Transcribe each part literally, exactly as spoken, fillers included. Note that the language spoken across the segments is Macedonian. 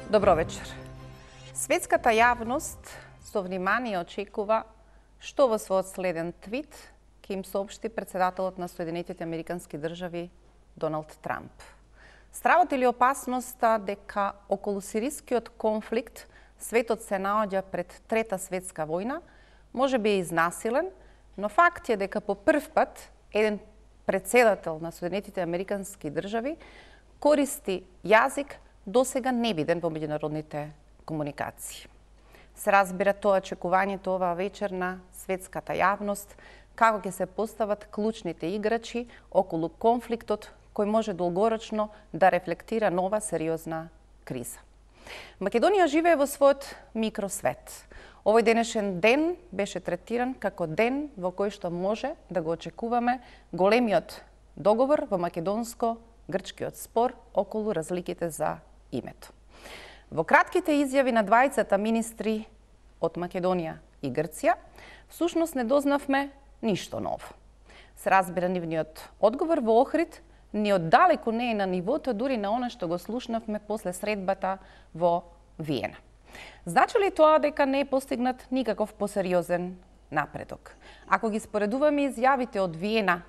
Добро вечер. Светската јавност со внимание очекува што во својот следен твит ќе им соопшти председателот на Соединетите Американски држави Доналд Трамп. Стравот или опасноста дека околу сирискиот конфликт светот се наоѓа пред Трета светска војна може би е изнасилен, но факт е дека по прв пат еден председател на Соединетите Американски држави користи јазик досега невиден во меѓународните комуникации. Се разбира тоа очекувањето оваа вечер на светската јавност, како ќе се постават клучните играчи околу конфликтот кој може долгорочно да рефлектира нова сериозна криза. Македонија живее во својот микросвет. Овој денешен ден беше третиран како ден во кој што може да го очекуваме големиот договор во македонско-грчкиот спор околу разликите за името. Во кратките изјави на двајцата министри од Македонија и Грција, всушност не дознавме ништо ново. Се разбира, нивниот одговор во Охрид ни оддалеку не е на нивото дури на она што го слушнавме после средбата во Виена. Значи ли тоа дека не е постигнат никаков посериозен напредок? Ако ги споредуваме изјавите од Виена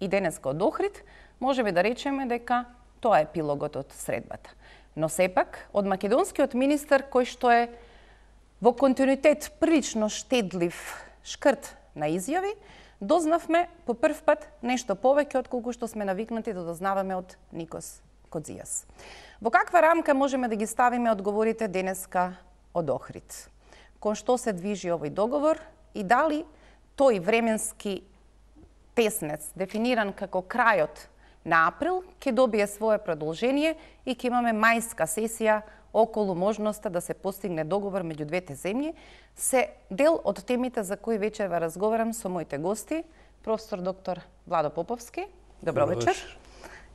и денеска од Охрид, можеме да речеме дека тоа е епилогот од средбата. Но сепак, од македонскиот министер, кој што е во континуитет прилично штедлив шкрт на изјави, дознавме по прв пат нешто повеќе отколку што сме навикнати да дознаваме од Никос Кодзијас. Во каква рамка можеме да ги ставиме одговорите денеска од Охрид? Кон што се движи овој договор и дали тој временски теснец, дефиниран како крајот на април, ќе добие свое продолжение и ќе имаме мајска сесија околу можноста да се постигне договор меѓу двете земји, се дел од темите за кои вечерва разговарам со моите гости, професор доктор Владо Поповски, добро, добро вечер. вечер,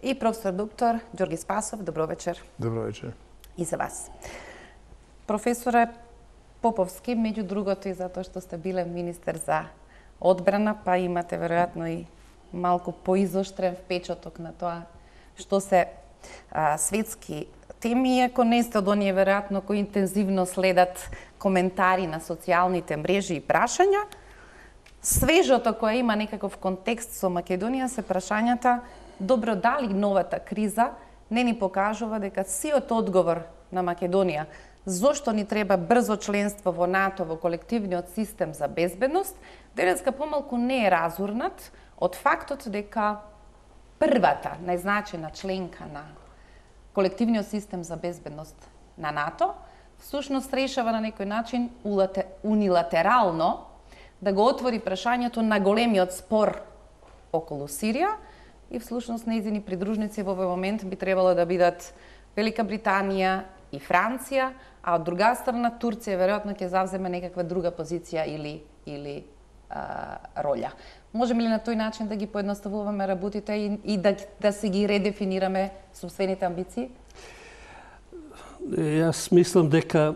и професор доктор Ѓорги Спасов, добро вечер. Добро вечер. И за вас. Професоре Поповски, меѓу другото и затоа што сте биле министер за одбрана, па имате веројатно и малку поизоштрен впечаток на тоа што се а, светски теми, ако не сте од оние веројатно кои интензивно следат коментари на социјалните мрежи и прашања. Свежото кое има некаков контекст со Македонија се прашањата добро дали новата криза не ни покажува дека сиот одговор на Македонија зошто ни треба брзо членство во НАТО, во колективниот систем за безбедност, денеска помалку не е разурнат од фактот дека првата најзначена членка на колективниот систем за безбедност на НАТО всушност решава на некој начин унилатерално да го отвори прашањето на големиот спор околу Сирија и всушност нејзини придружници во овој момент би требало да бидат Велика Британија и Франција, а од друга страна Турција веројатно ќе завземе некаква друга позиција или или а, роља. Можеме ли на тој начин да ги поедноставуваме работите и, и да, да се ги редефинираме собствените амбиции? Јас мислам дека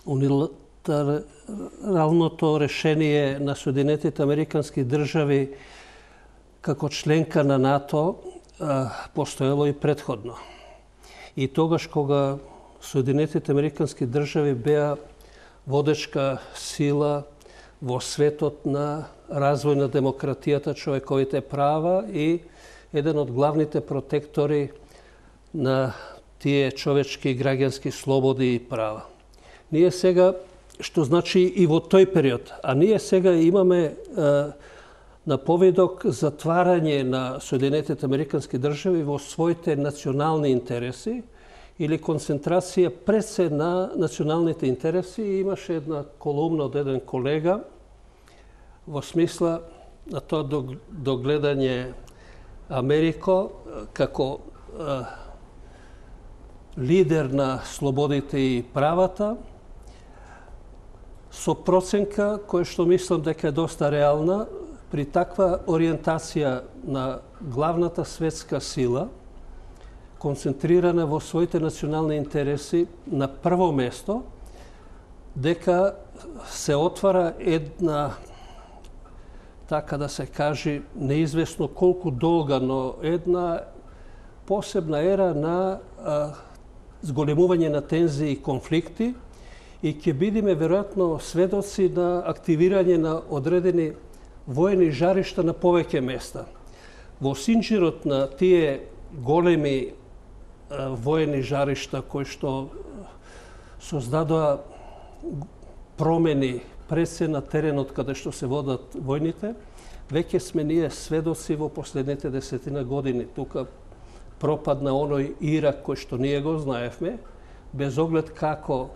унилатералното решение на Соединетите Американски држави како членка на НАТО постоело и претходно. И тогаш кога Соединетите Американски држави беа водечка сила во светот на развој на демократијата, човековите права и еден од главните протектори на тие човечки и граѓански слободи и права. Ние сега, што значи и во тој период, а ние сега имаме е, на поведок затварање на Соединетите Американски држави во своите национални интереси или концентрација пред се на националните интереси. И имаше една колумна од еден колега во смисла на тоа догледање Америко како е, лидер на слободите и правата, со проценка која што мислам дека е доста реална, при таква ориентација на главната светска сила, концентрирана во своите национални интереси на прво место, дека се отвара една, така да се каже, неизвестно колку долга, но една посебна ера на а, зголемување на тензии и конфликти и ќе бидеме веројатно сведоци на активирање на одредени воени жаришта на повеќе места. Во синџирот на тие големи воени жаришта кои што создадоа промени пред се на теренот каде што се водат војните, веќе сме ние сведоци во последните десетина години. Тука пропадна оној Ирак кој што ние го знаевме, без оглед како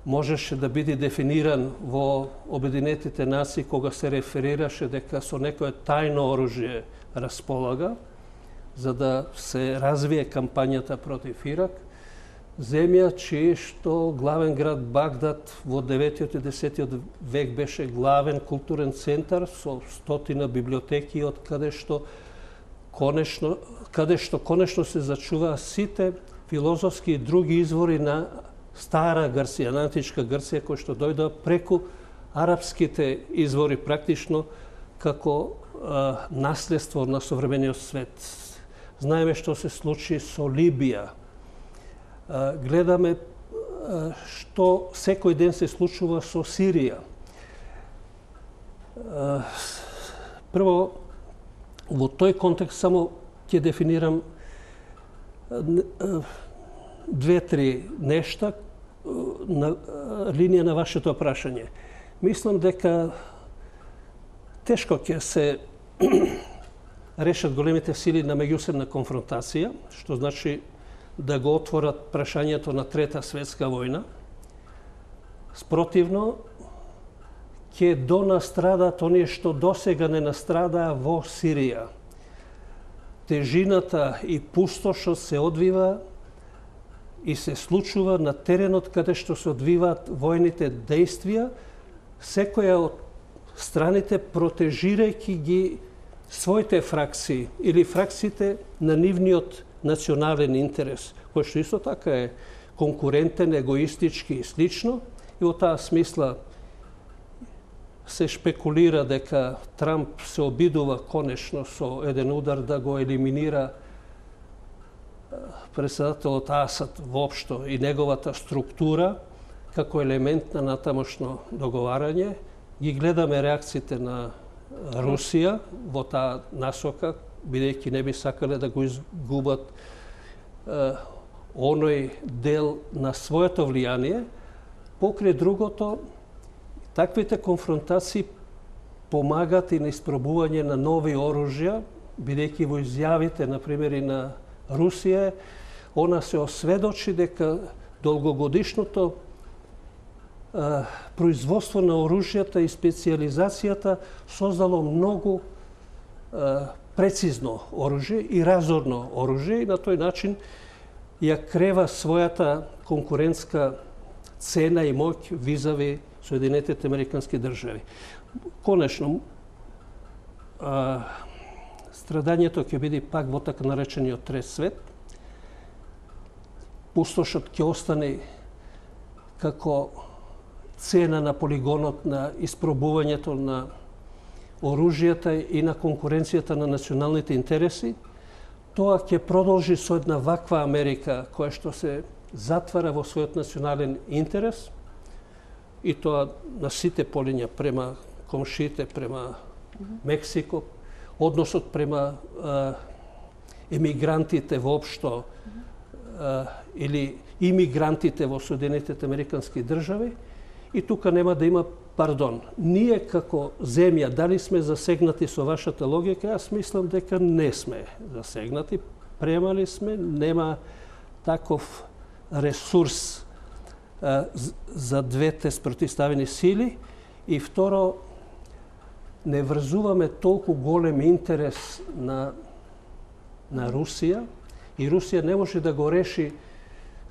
можеше да биде дефиниран во Обединетите нации кога се реферираше дека со некое тајно оружје располага за да се развие кампањата против Ирак. Земја чиј што главен град Багдад во деветиот и десетиот век беше главен културен центар со стотина библиотеки од каде што конечно каде што конечно се зачуваа сите филозофски и други извори на стара Грција, на античка Грција, кои што дојдоа преку арапските извори практично како а, наследство на современиот свет. Знаеме што се случи со Либија. А, гледаме а, што секој ден се случува со Сирија. А, прво, во тој контекст само ќе дефинирам две-три нешта на линија на вашето прашање. Мислам дека тешко ќе се решат големите сили на меѓусебна конфронтација, што значи да го отворат прашањето на Трета светска војна. Спротивно, ќе донастрадат оние што досега не настрадаа во Сирија. Тежината и пустошот се одвива и се случува на теренот каде што се одвиваат војните дејствија, секоја од страните протежирајќи ги своите фракции или фракциите на нивниот национален интерес, кој што исто така е конкурентен, егоистички и слично, и во таа смисла се шпекулира дека Трамп се обидува конечно со еден удар да го елиминира председателот Асад воопшто и неговата структура како елемент на натамошно договарање. Ги гледаме реакциите на Русија во таа насока, бидејќи не би сакале да го изгубат е, оној дел на своето влијание. Покрај другото, таквите конфронтации помагат и на испробување на нови оружја, бидејќи во изјавите, например, и на Русија, она се осведочи дека долгогодишното а, производство на оружјата и специализацијата создало многу а, прецизно оружје и разорно оружје и на тој начин ја крева својата конкурентска цена и моќ визави Соединетите Американски држави. Конечно, а, страдањето ќе биде пак во така наречениот трет свет. Пустошот ќе остане како цена на полигонот на испробувањето на оружјата и на конкуренцијата на националните интереси. Тоа ќе продолжи со една ваква Америка која што се затвара во својот национален интерес и тоа на сите полиња према комшиите, према Мексико, односот према а, емигрантите воопшто а, или имигрантите во Соединетите Американски држави и тука нема да има пардон. Ние како земја дали сме засегнати со вашата логика? Јас мислам дека не сме засегнати. Премали сме, нема таков ресурс а, за двете спротивставени сили и второ, не врзуваме толку голем интерес на, на Русија и Русија не може да го реши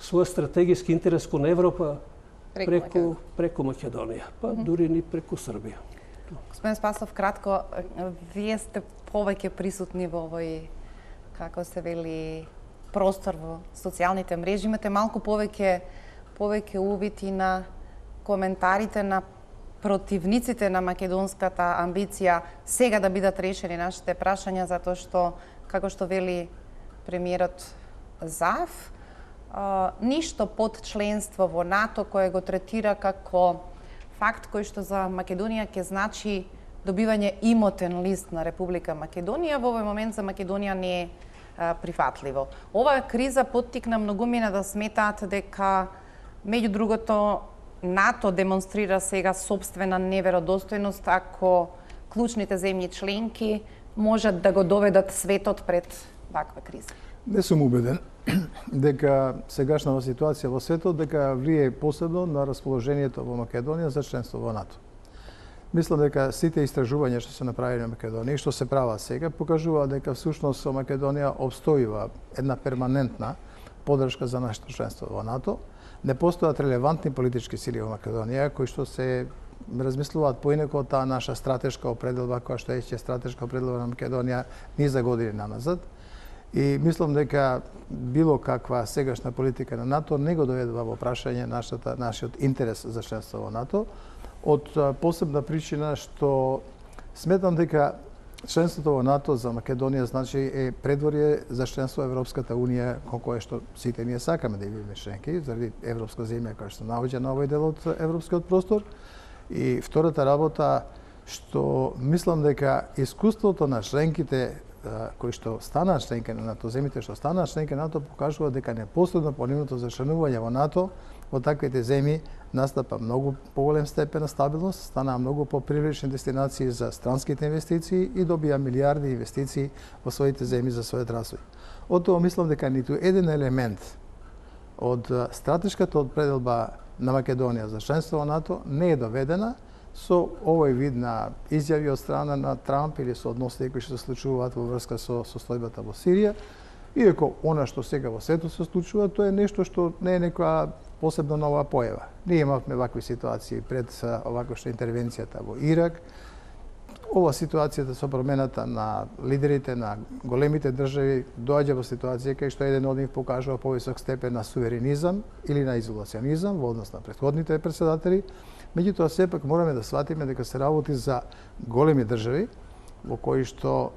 свој стратегиски интерес кон Европа преку, преку Македонија, па mm -hmm. дури ни преку Србија. Господин Спасов, кратко, вие сте повеќе присутни во овој, како се вели, простор во социјалните мрежи, имате малку повеќе повеќе увид и на коментарите на противниците на македонската амбиција сега да бидат решени нашите прашања, затоа што, како што вели премиерот Заев, ништо под членство во НАТО кое го третира како факт кој што за Македонија ќе значи добивање имотен лист на Република Македонија, во овој момент за Македонија не е прифатливо. Оваа криза поттикна многумина да сметаат дека, меѓу другото, НАТО демонстрира сега собствена неверодостојност ако клучните земји членки можат да го доведат светот пред ваква криза. Не сум убеден дека сегашната ситуација во светот дека влие посебно на расположението во Македонија за членство во НАТО. Мислам дека сите истражувања што се направени на Македонија и што се прават сега покажуваат дека всушност со Македонија обстојува една перманентна поддршка за нашето членство во НАТО. Не постојат релевантни политички сили во Македонија кои што се размислуваат поинаку таа наша стратешка определба која што е стратешка определба на Македонија низа години наназад. И мислам дека било каква сегашна политика на НАТО не го доведува во прашање нашата, нашиот интерес за членство во НАТО, од посебна причина што сметам дека членството во НАТО за Македонија значи е предворје за членство во Европската Унија, кое што сите ние сакаме да бидеме членки, заради европска земја која што наоѓа на овој дел од европскиот простор. И втората работа што мислам дека искуството на членките кои што станаа членки на НАТО, земјите што станаа членки на НАТО покажува дека непосредно по нивното зачленување во НАТО во таквите земји настапа многу поголем степен на стабилност, станаа многу попривлечни дестинации за странските инвестиции и добија милиарди инвестиции во своите земји за својот развој. Од тоа мислам дека ниту еден елемент од стратешката определба на Македонија за членство во НАТО не е доведена со овој вид на изјави од страна на Трамп или со односите кои што се случуваат во врска со состојбата во Сирија, иако она што сега во светот се случува, тоа е нешто што не е некоја посебно нова појава. Ние имавме вакви ситуации пред оваква што интервенцијата во Ирак. Ова ситуацијата со промената на лидерите на големите држави доаѓа во ситуација кај што еден од нив покажува повисок степен на суверенизам или на изолационизам во однос на претходните председатели. Меѓутоа, сепак мораме да сватиме дека се работи за големи држави во кои што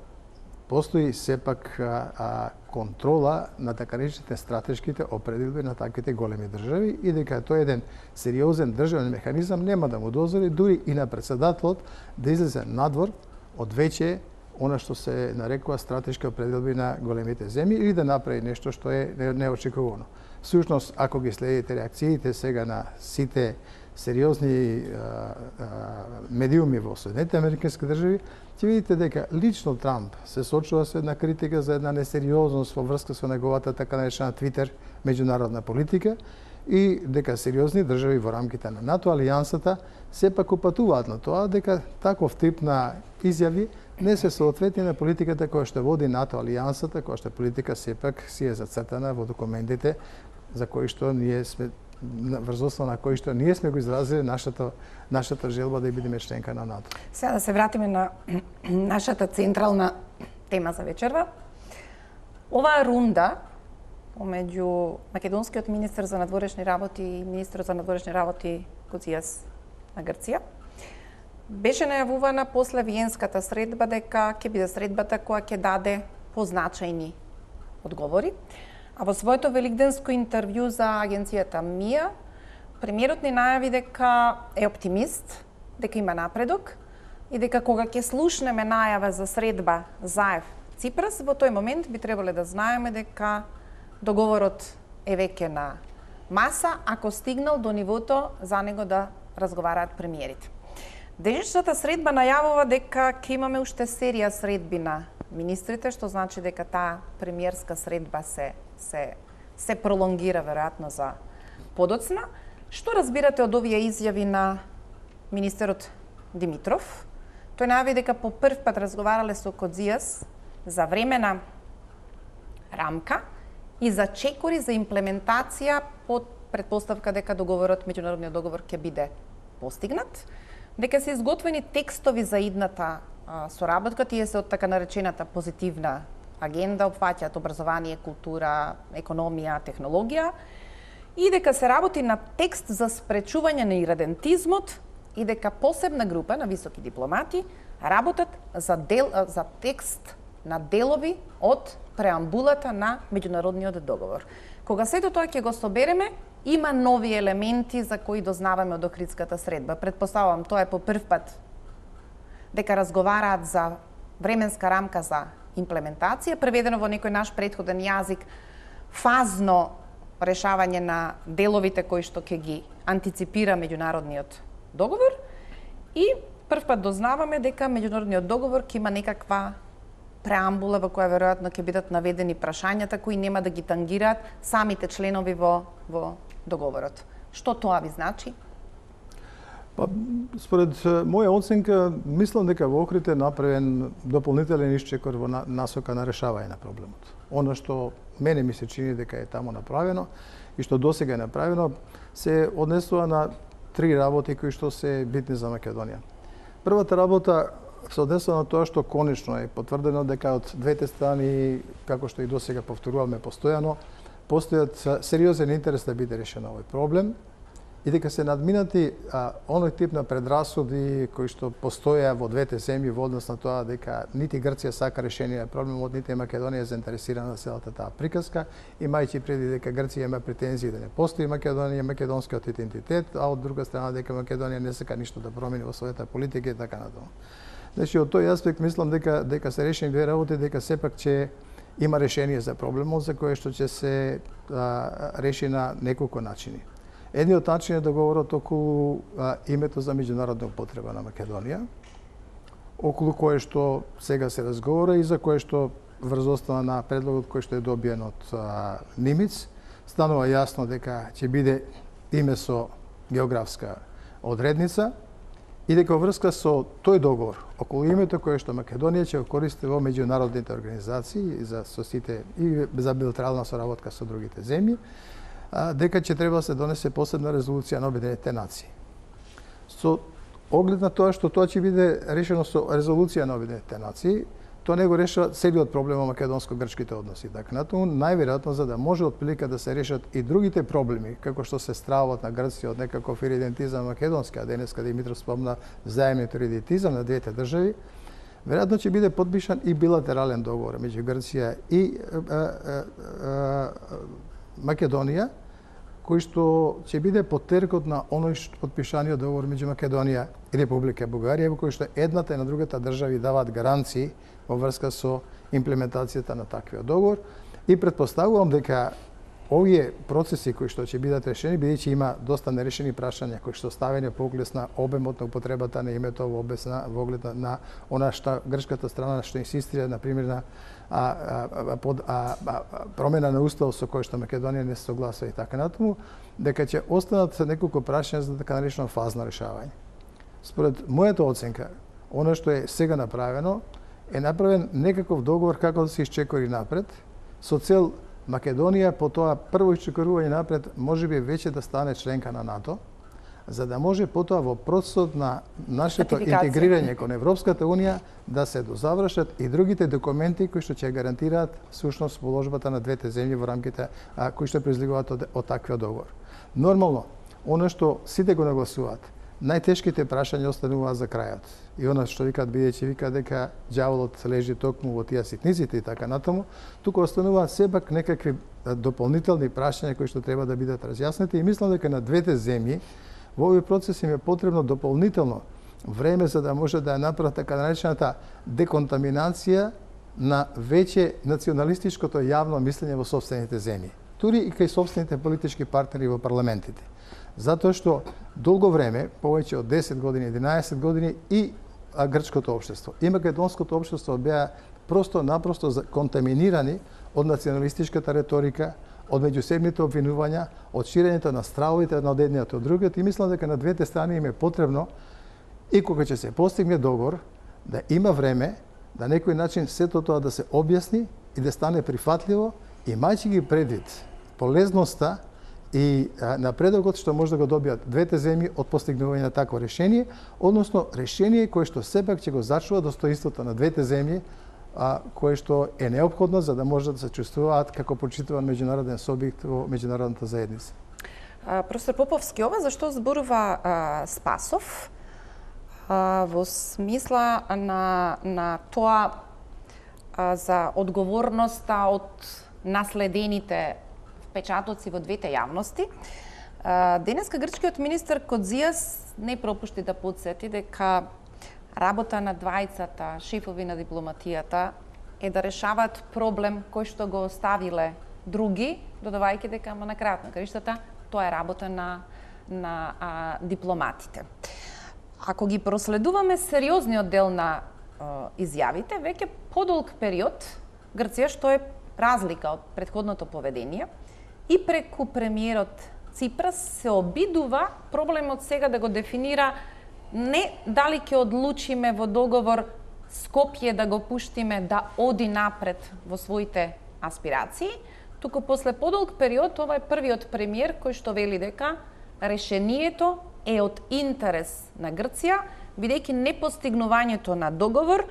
постои сепак а, контрола на така наречените стратешките определби на таквите големи држави и дека тој еден сериозен државен механизам нема да му дозволи дури и на председателот да излезе надвор од веќе она што се нарекува стратешки определби на големите земји или да направи нешто што е неочекувано. Всушност, ако ги следите реакциите сега на сите сериозни а, а, медиуми во Соединетите Американски држави, ќе видите дека лично Трамп се сочува со една критика за една несериозност во врска со неговата така наречена Твитер меѓународна политика и дека сериозни држави во рамките на НАТО алијансата сепак упатуваат на тоа дека таков тип на изјави не се соодветни на политиката која што води НАТО алијансата, која што политика сепак си е зацртана во документите за кои што ние сме врз основа на кои што ние сме го изразили нашата нашата желба да бидеме членка на НАТО. Сега да се вратиме на нашата централна тема за вечерва. Оваа рунда помеѓу македонскиот министер за надворешни работи и министерот за надворешни работи Коцijas на Грција беше најавувана после виенската средба дека ќе биде средбата која ќе даде позначајни одговори. А во своето великденско интервју за агенцијата МИА, премиерот ни најави дека е оптимист, дека има напредок и дека кога ќе слушнеме најава за средба Заев-Ципрас, во тој момент би требале да знаеме дека договорот е веќе на маса, ако стигнал до нивото за него да разговараат премиерите. Денешната средба најавува дека ќе имаме уште серија средби на министрите, што значи дека таа премиерска средба се се се пролонгира веројатно за подоцна. Што разбирате од овие изјави на министерот Димитров? Тој најави дека по прв пат разговарале со Коцijas за времена рамка и за чекори за имплементација под претпоставка дека договорот, меѓународниот договор ќе биде постигнат, дека се изготвени текстови за идната а, соработка, тие се од така наречената позитивна агенда, опфаќаат образование, култура, економија, технологија и дека се работи на текст за спречување на иредентизмот и дека посебна група на високи дипломати работат за, дел, за текст на делови од преамбулата на меѓународниот договор. Кога сето тоа ќе го собереме, има нови елементи за кои дознаваме од Охридската средба. Предпоставувам, тоа е по прв пат дека разговараат за временска рамка за имплементација, преведено во некој наш претходен јазик, фазно решавање на деловите кои што ќе ги антиципира меѓународниот договор и прв пат дознаваме дека меѓународниот договор ќе има некаква преамбула во која веројатно ќе бидат наведени прашањата кои нема да ги тангираат самите членови во во договорот. Што тоа ви значи? Па, според моја оценка, мислам дека во Охрид е направен дополнителен исчекор во насока на решавање на проблемот. Оно што мене ми се чини дека е таму направено и што досега е направено, се однесува на три работи кои што се битни за Македонија. Првата работа се однесува на тоа што конечно е потврдено дека од двете страни, како што и досега повторуваме постојано, постојат сериозен интерес да биде решен овој проблем и дека се надминати а, оној тип на предрасуди кои што постоја во двете земји во однос на тоа дека нити Грција сака решение на проблемот, нити Македонија е заинтересирана за целата таа приказка, имајќи преди дека Грција има претензии да не постои Македонија, македонскиот идентитет, а од друга страна дека Македонија не сака ништо да промени во својата политика и така натаму. Значи, од тој аспект мислам дека дека се решени две работи, дека сепак ќе има решение за проблемот за кое што ќе се а, реши на неколку начини. Едниот начин е договорот околу а, името за меѓународна употреба на Македонија, околу кое што сега се разговара и за кое што врз основа на предлогот кој што е добиен од а, Нимиц, станува јасно дека ќе биде име со географска одредница и дека врска со тој договор околу името кое што Македонија ќе го користи во меѓународните организации и за со сите и за билатерална соработка со другите земји, дека ќе треба да се донесе посебна резолуција на Обединетите нации. Со оглед на тоа што тоа ќе биде решено со резолуција на Обединетите нации, тоа не го решава целиот проблем во македонско-грчките односи. Така натаму, најверојатно за да може отприлика да се решат и другите проблеми, како што се стравот на Грција од некаков иридентизам македонски, а денеска Димитров спомна заемниот иридентизам на двете држави, веројатно ќе биде подпишан и билатерален договор меѓу Грција и а, а, а, Македонија, кој што ќе биде поттеркот на оној што подпишаниот договор меѓу Македонија и Република Бугарија, во кој што едната и на другата држави даваат гаранции во врска со имплементацијата на таквиот договор и претпоставувам дека овие процеси кои што ќе бидат решени, бидејќи има доста нерешени прашања кои што ставени по оглед на обемот на употребата на името во оглед на, во оглед на, на она што грчката страна што инсистира на пример на а, а, под, а, а, промена на устав со кој што Македонија не се согласува и така натаму, дека ќе останат неколку прашања за така наречено фазно решавање. Според мојата оценка, она што е сега направено, е направен некаков договор како да се исчекори напред, со цел Македонија по тоа прво исчекорување напред можеби веќе да стане членка на НАТО, за да може потоа во процесот на нашето интегрирање кон Европската Унија да се дозавршат и другите документи кои што ќе гарантираат сушност положбата на двете земји во рамките а, кои што произлегуваат од, од таквиот договор. Нормално, оно што сите го нагласуваат, најтешките прашања остануваат за крајот. И она што викаат, бидејќи викаат дека ѓаволот лежи токму во тие ситниците и така натаму, туку остануваат сепак некакви дополнителни прашања кои што треба да бидат разјаснети и мислам дека на двете земји во овој процес им е потребно дополнително време за да може да ја направат така наречената деконтаминација на веќе националистичкото јавно мислење во сопствените земји, тури и кај сопствените политички партнери во парламентите. Затоа што долго време, повеќе од десет години, единаесет години, и грчкото општество и македонското општество беа просто-напросто контаминирани од националистичката реторика, од меѓусебните обвинувања, од ширењето на стравовите на едниот од другиот и мислам дека на двете страни им е потребно и кога ќе се постигне договор да има време да на некој начин сето тоа да се објасни и да стане прифатливо, имајќи ги предвид полезноста и напредокот што може да го добијат двете земји од постигнување на такво решение, односно решение кое што сепак ќе го зачува достоинството на двете земји, а, кое што е неопходно за да може да се чувствуваат како почитуван меѓународен субјект во меѓународната заедница. А, професор Поповски, ова зашто зборува а, Спасов а, во смисла на, на тоа а, за одговорноста од наследените впечатоци во двете јавности. Денеска грчкиот министер Кодзијас не пропушти да подсети дека работа на двајцата шефови на дипломатијата е да решаваат проблем кој што го оставиле други, додавајќи дека ама на крајот на краиштата тоа е работа на на а, дипломатите. Ако ги проследуваме сериозниот дел на а, изјавите, веќе подолг период Грција, што е разлика од претходното поведение, и преку премиерот Ципрас се обидува проблемот сега да го дефинира не дали ќе одлучиме во договор Скопје да го пуштиме да оди напред во своите аспирации, туку после подолг период ова е првиот премиер кој што вели дека решението е од интерес на Грција, бидејќи непостигнувањето на договор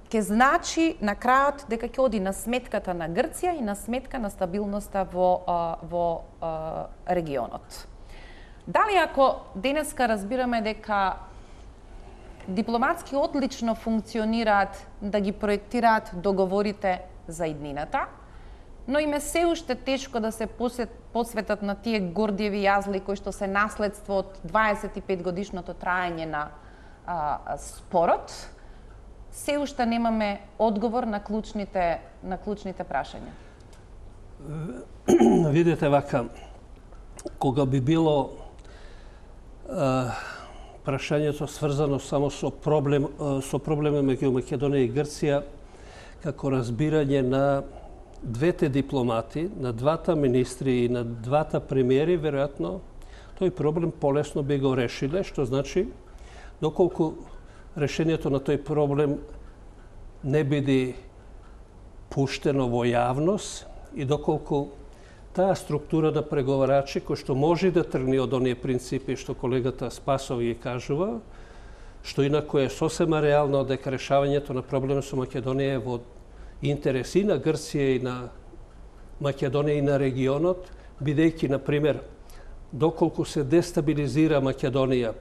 ќе значи на крајот дека ќе оди на сметката на Грција и на сметка на стабилноста во, во регионот. Дали ако денеска разбираме дека дипломатски одлично функционираат да ги проектираат договорите за иднината, но им е се уште тешко да се посветат на тие гордиеви јазли кои што се наследство од дваесет и пет годишното траење на а, спорот, се уште немаме одговор на клучните, на клучните прашања. Видете вака, кога би било а, прашањето сврзано само со проблем со проблеме меѓу Македонија и Грција, како разбирање на двете дипломати, на двата министри и на двата премиери, веројатно тој проблем полесно би го решиле, што значи доколку решението на тој проблем не биде пуштено во јавност и доколку таа структура на преговарачи, кој што може да тргне од оние принципи што колегата Спасов ги кажува, што инако е сосема реално дека решавањето на проблемот со Македонија е во интерес и на Грција и на Македонија и на регионот, бидејќи, например, доколку се дестабилизира Македонија,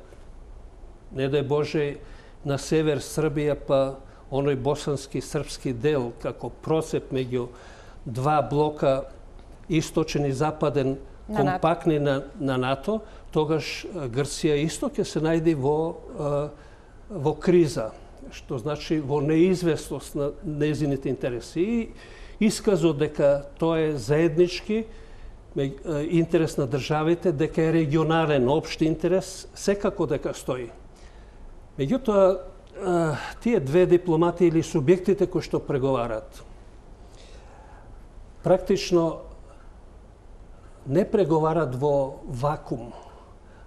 не дај Боже, на север Србија, па оној босански српски дел, како процеп меѓу два блока, источен и западен, на компактни на, на НАТО, тогаш Грција исто ќе се најде во, во криза, што значи во неизвестност на незините интереси. И исказот дека тоа е заеднички интерес на државите, дека е регионален општ интерес, секако дека стои. Меѓутоа, тие две дипломати или субјектите кои што преговарат, практично не преговарат во вакуум,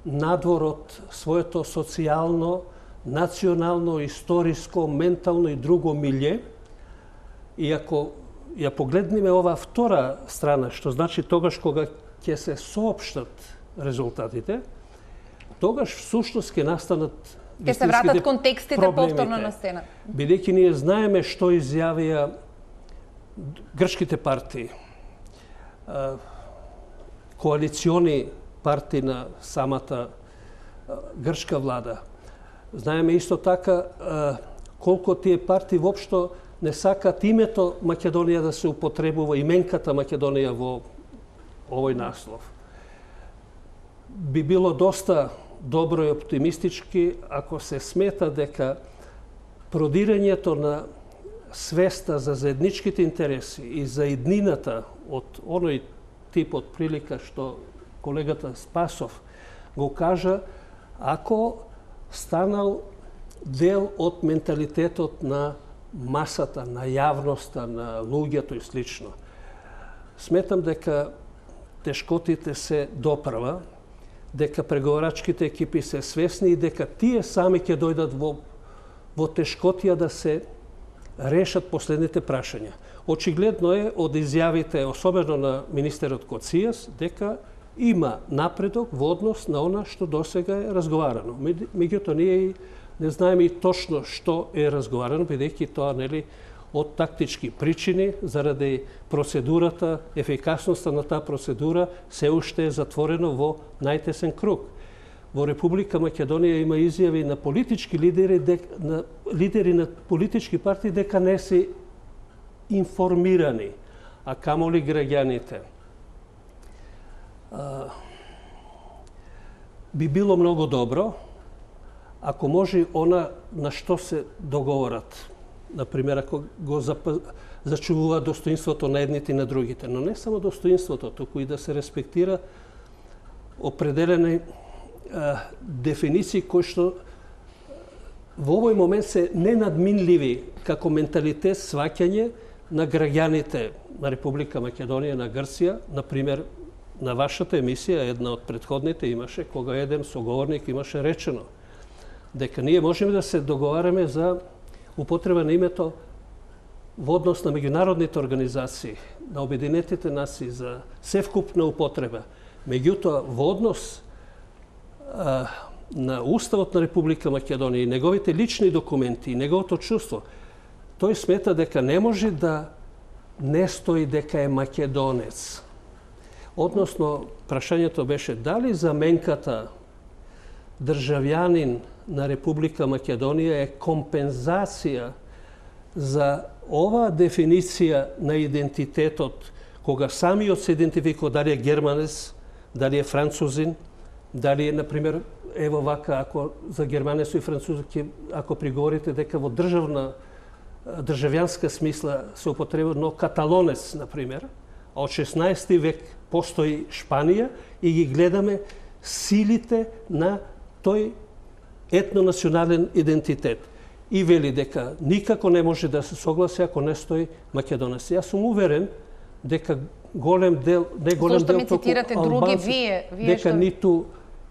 надвор од своето социјално, национално, историско, ментално и друго милје. И ако ја погледнеме ова втора страна, што значи тогаш кога ќе се соопштат резултатите, тогаш всушност ќе настанат ќе се вратат контекстите повторно на сцена. Бидејќи ние знаеме што изјавија грчките партии, коалициони партии на самата грчка влада. Знаеме исто така колку тие партии воопшто не сакат името Македонија да се употребува, именката Македонија во овој наслов. Би било доста добро и оптимистички ако се смета дека продирањето на свеста за заедничките интереси и за иднината од оној тип од прилика што колегата Спасов го кажа, ако станал дел од менталитетот на масата, на јавноста, на луѓето и слично. Сметам дека тешкотите се допрва, дека преговарачките екипи се свесни и дека тие сами ќе дојдат во, во тешкотија да се решат последните прашања. Очигледно е од изјавите, особено на министерот Коцijas, дека има напредок во однос на она што досега е разговарано. Меѓутоа, ние не знаеме и точно што е разговарано, бидејќи тоа нели од тактички причини, заради процедурата, ефикасноста на таа процедура, се уште е затворено во најтесен круг. Во Република Македонија има изјави на политички лидери, дек, на лидери на политички партии дека не се информирани, а камоли граѓаните. би било многу добро ако може она на што се договорат. Например, ако го зачувува достоинството на едните и на другите. Но не само достоинството, туку и да се респектира определени а, дефиниции кои што во овој момент се ненадминливи како менталитет сваќање на граѓаните на Република Македонија, на Грција. Например, на вашата емисија, една од предходните имаше, кога еден соговорник имаше речено дека ние можеме да се договараме за употреба на името во однос на меѓународните организации, на Обединетите нации за севкупна употреба. Меѓутоа, во однос а, на Уставот на Република Македонија и неговите лични документи и неговото чувство, тој смета дека не може да не стои дека е македонец. Односно, прашањето беше дали заменката државјанин на Република Македонија е компензација за оваа дефиниција на идентитетот, кога самиот се идентификува дали е германец, дали е французин, дали е, например, ево вака, ако за германецо и французски, ако приговорите дека во државна, државјанска смисла се употреба, но каталонец, например, а од шеснаести век постои Шпанија и ги гледаме силите на тој етнонационален идентитет. И вели дека никако не може да се согласи ако не стои македонец. Јас сум уверен дека голем дел, не голем Зошто дел, ми цитирате други вие, вие дека што... ниту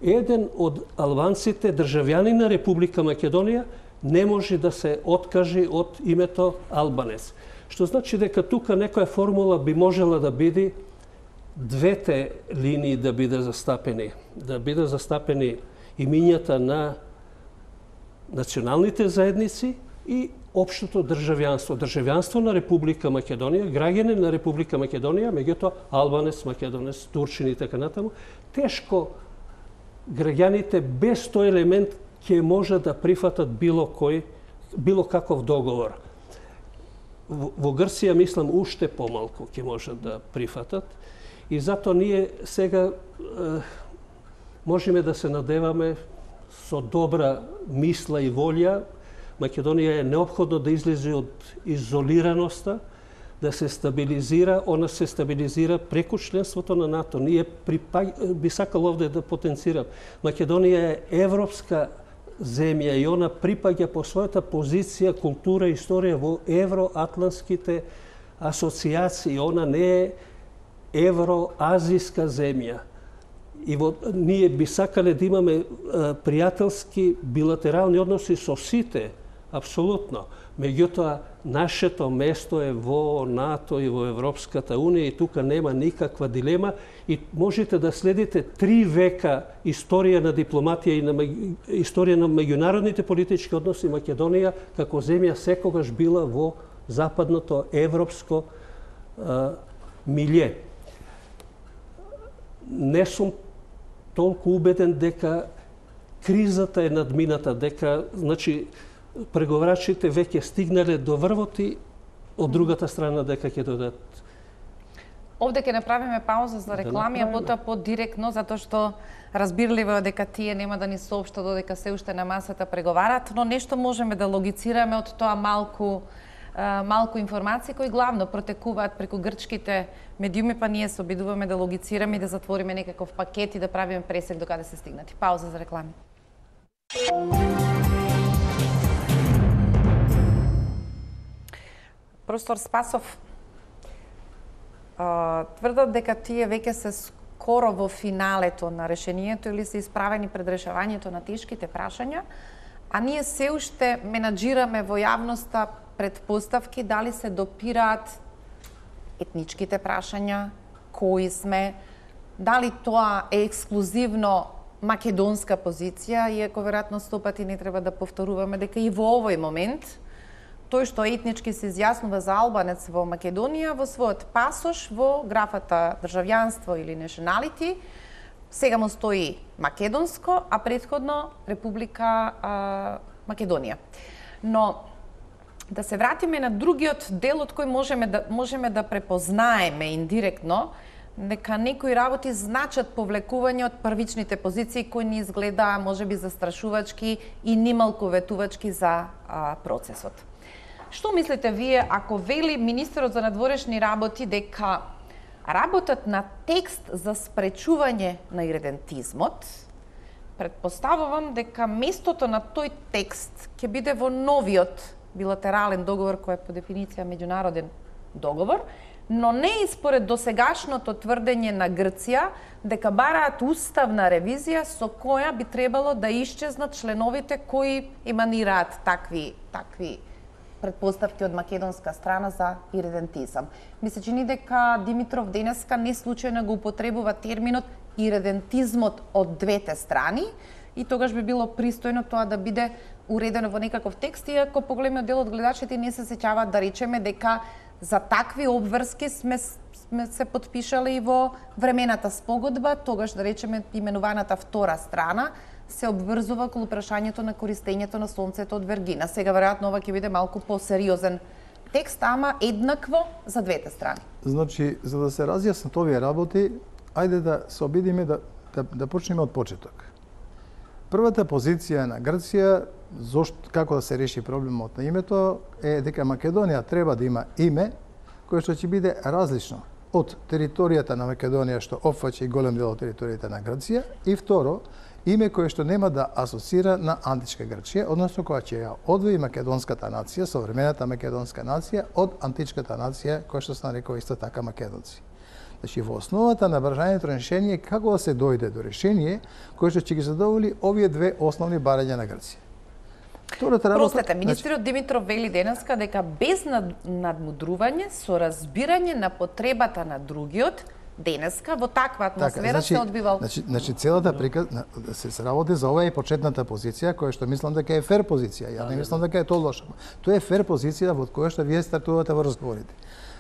еден од албанците, државјани на Република Македонија, не може да се откажи од името албанец. Што значи дека тука некоја формула би можела да биде двете линии да биде застапени, да биде застапени имињата на националните заедници и општото државјанство. Државјанство на Република Македонија, граѓани на Република Македонија, меѓутоа албанец, македонец, турчин и така натаму, тешко граѓаните без тој елемент ќе може да прифатат било кој, било каков договор. Во, во Грција, мислам, уште помалку ќе може да прифатат. И затоа ние сега е, можеме да се надеваме со добра мисла и волја. Македонија е неопходно да излезе од изолираноста, да се стабилизира. Она се стабилизира преку членството на НАТО. Ние припаг... би сакал овде да потенцирам. Македонија е европска земја и она припаѓа по својата позиција, култура и историја во евроатлантските асоциации. Она не е евроазиска земја. И во, ние би сакале да имаме а, пријателски билатерални односи со сите, апсолутно. Меѓутоа, нашето место е во НАТО и во Европската Унија и тука нема никаква дилема и можете да следите три века историја на дипломатија и на историја на меѓународните политички односи. Македонија како земја секогаш била во западното европско а, милје. Не сум толку убеден дека кризата е надмината, дека значи преговарачите веќе стигнале до врвот и од другата страна дека ќе додат. Овде ќе направиме пауза за реклами, а потоа подиректно, затоа што разбирливо е дека тие нема да ни соопштат додека се уште на масата преговарат, но нешто можеме да логицираме од тоа малку малку информации кои главно протекуваат преку грчките медиуми, па ние се обидуваме да логицираме и да затвориме некаков пакет и да правиме пресек докаде се стигнати. Пауза за реклами. Професор Спасов, тврдат дека тие веќе се скоро во финалето на решението или се исправени пред решавањето на тешките прашања, а ние се уште менаџираме во јавноста предпоставки дали се допираат етничките прашања, кои сме, дали тоа е ексклузивно македонска позиција, иако веројатно сто пати не треба да повторуваме дека и во овој момент тој што етнички се изјаснува за албанец во Македонија во својот пасош во графата државјанство или nationality сега му стои македонско, а претходно Република а, Македонија. Но да се вратиме на другиот дел од кој можеме да можеме да препознаеме индиректно дека некои работи значат повлекување од првичните позиции кои ни изгледаа можеби застрашувачки и нималку ветувачки за а, процесот. Што мислите вие ако вели министерот за надворешни работи дека работат на текст за спречување на иредентизмот, предпоставувам дека местото на тој текст ќе биде во новиот билатерален договор кој е по дефиниција меѓународен договор, но не и според досегашното тврдење на Грција дека бараат уставна ревизија со која би требало да исчезнат членовите кои еманираат такви такви предпоставки од македонска страна за иредентизам. Ми се чини дека Димитров денеска не случајно го употребува терминот иредентизмот од двете страни и тогаш би било пристојно тоа да биде уредено во некаков текст, иако поголемиот дел од гледачите не се сеќаваат да речеме дека за такви обврски сме, сме се подпишале и во времената спогодба, тогаш да речеме именуваната втора страна се обврзува околу прашањето на користењето на сонцето од Вергина. Сега веројатно ова ќе биде малку посериозен текст, ама еднакво за двете страни. Значи, за да се разјаснат овие работи, ајде да се обидиме да, да, да почнеме од почеток. Првата позиција на Грција, зошто, како да се реши проблемот на името, е дека Македонија треба да има име кое што ќе биде различно од територијата на Македонија што опфаќа и голем дел од територијата на Грција, и второ, име кое што нема да асоцира на античка Грција, односно која ќе ја одвои македонската нација, современата македонска нација, од античката нација која што се нарекува исто така македонци. Значи, во основата на бржањето решение како да се дојде до решение кое што ќе ги задоволи овие две основни барања на Грција. Втората работа... Простете, министерот Димитров вели денеска дека без надмудрување, со разбирање на потребата на другиот, денеска во таква атмосфера така, значи, се одбивал. Значи, значи целата приказ се, се работи за ова е почетната позиција која што мислам дека е фер позиција. Ја не мислам дека е тоа лоша. Тоа е фер позиција во која што вие стартувате во разговорите.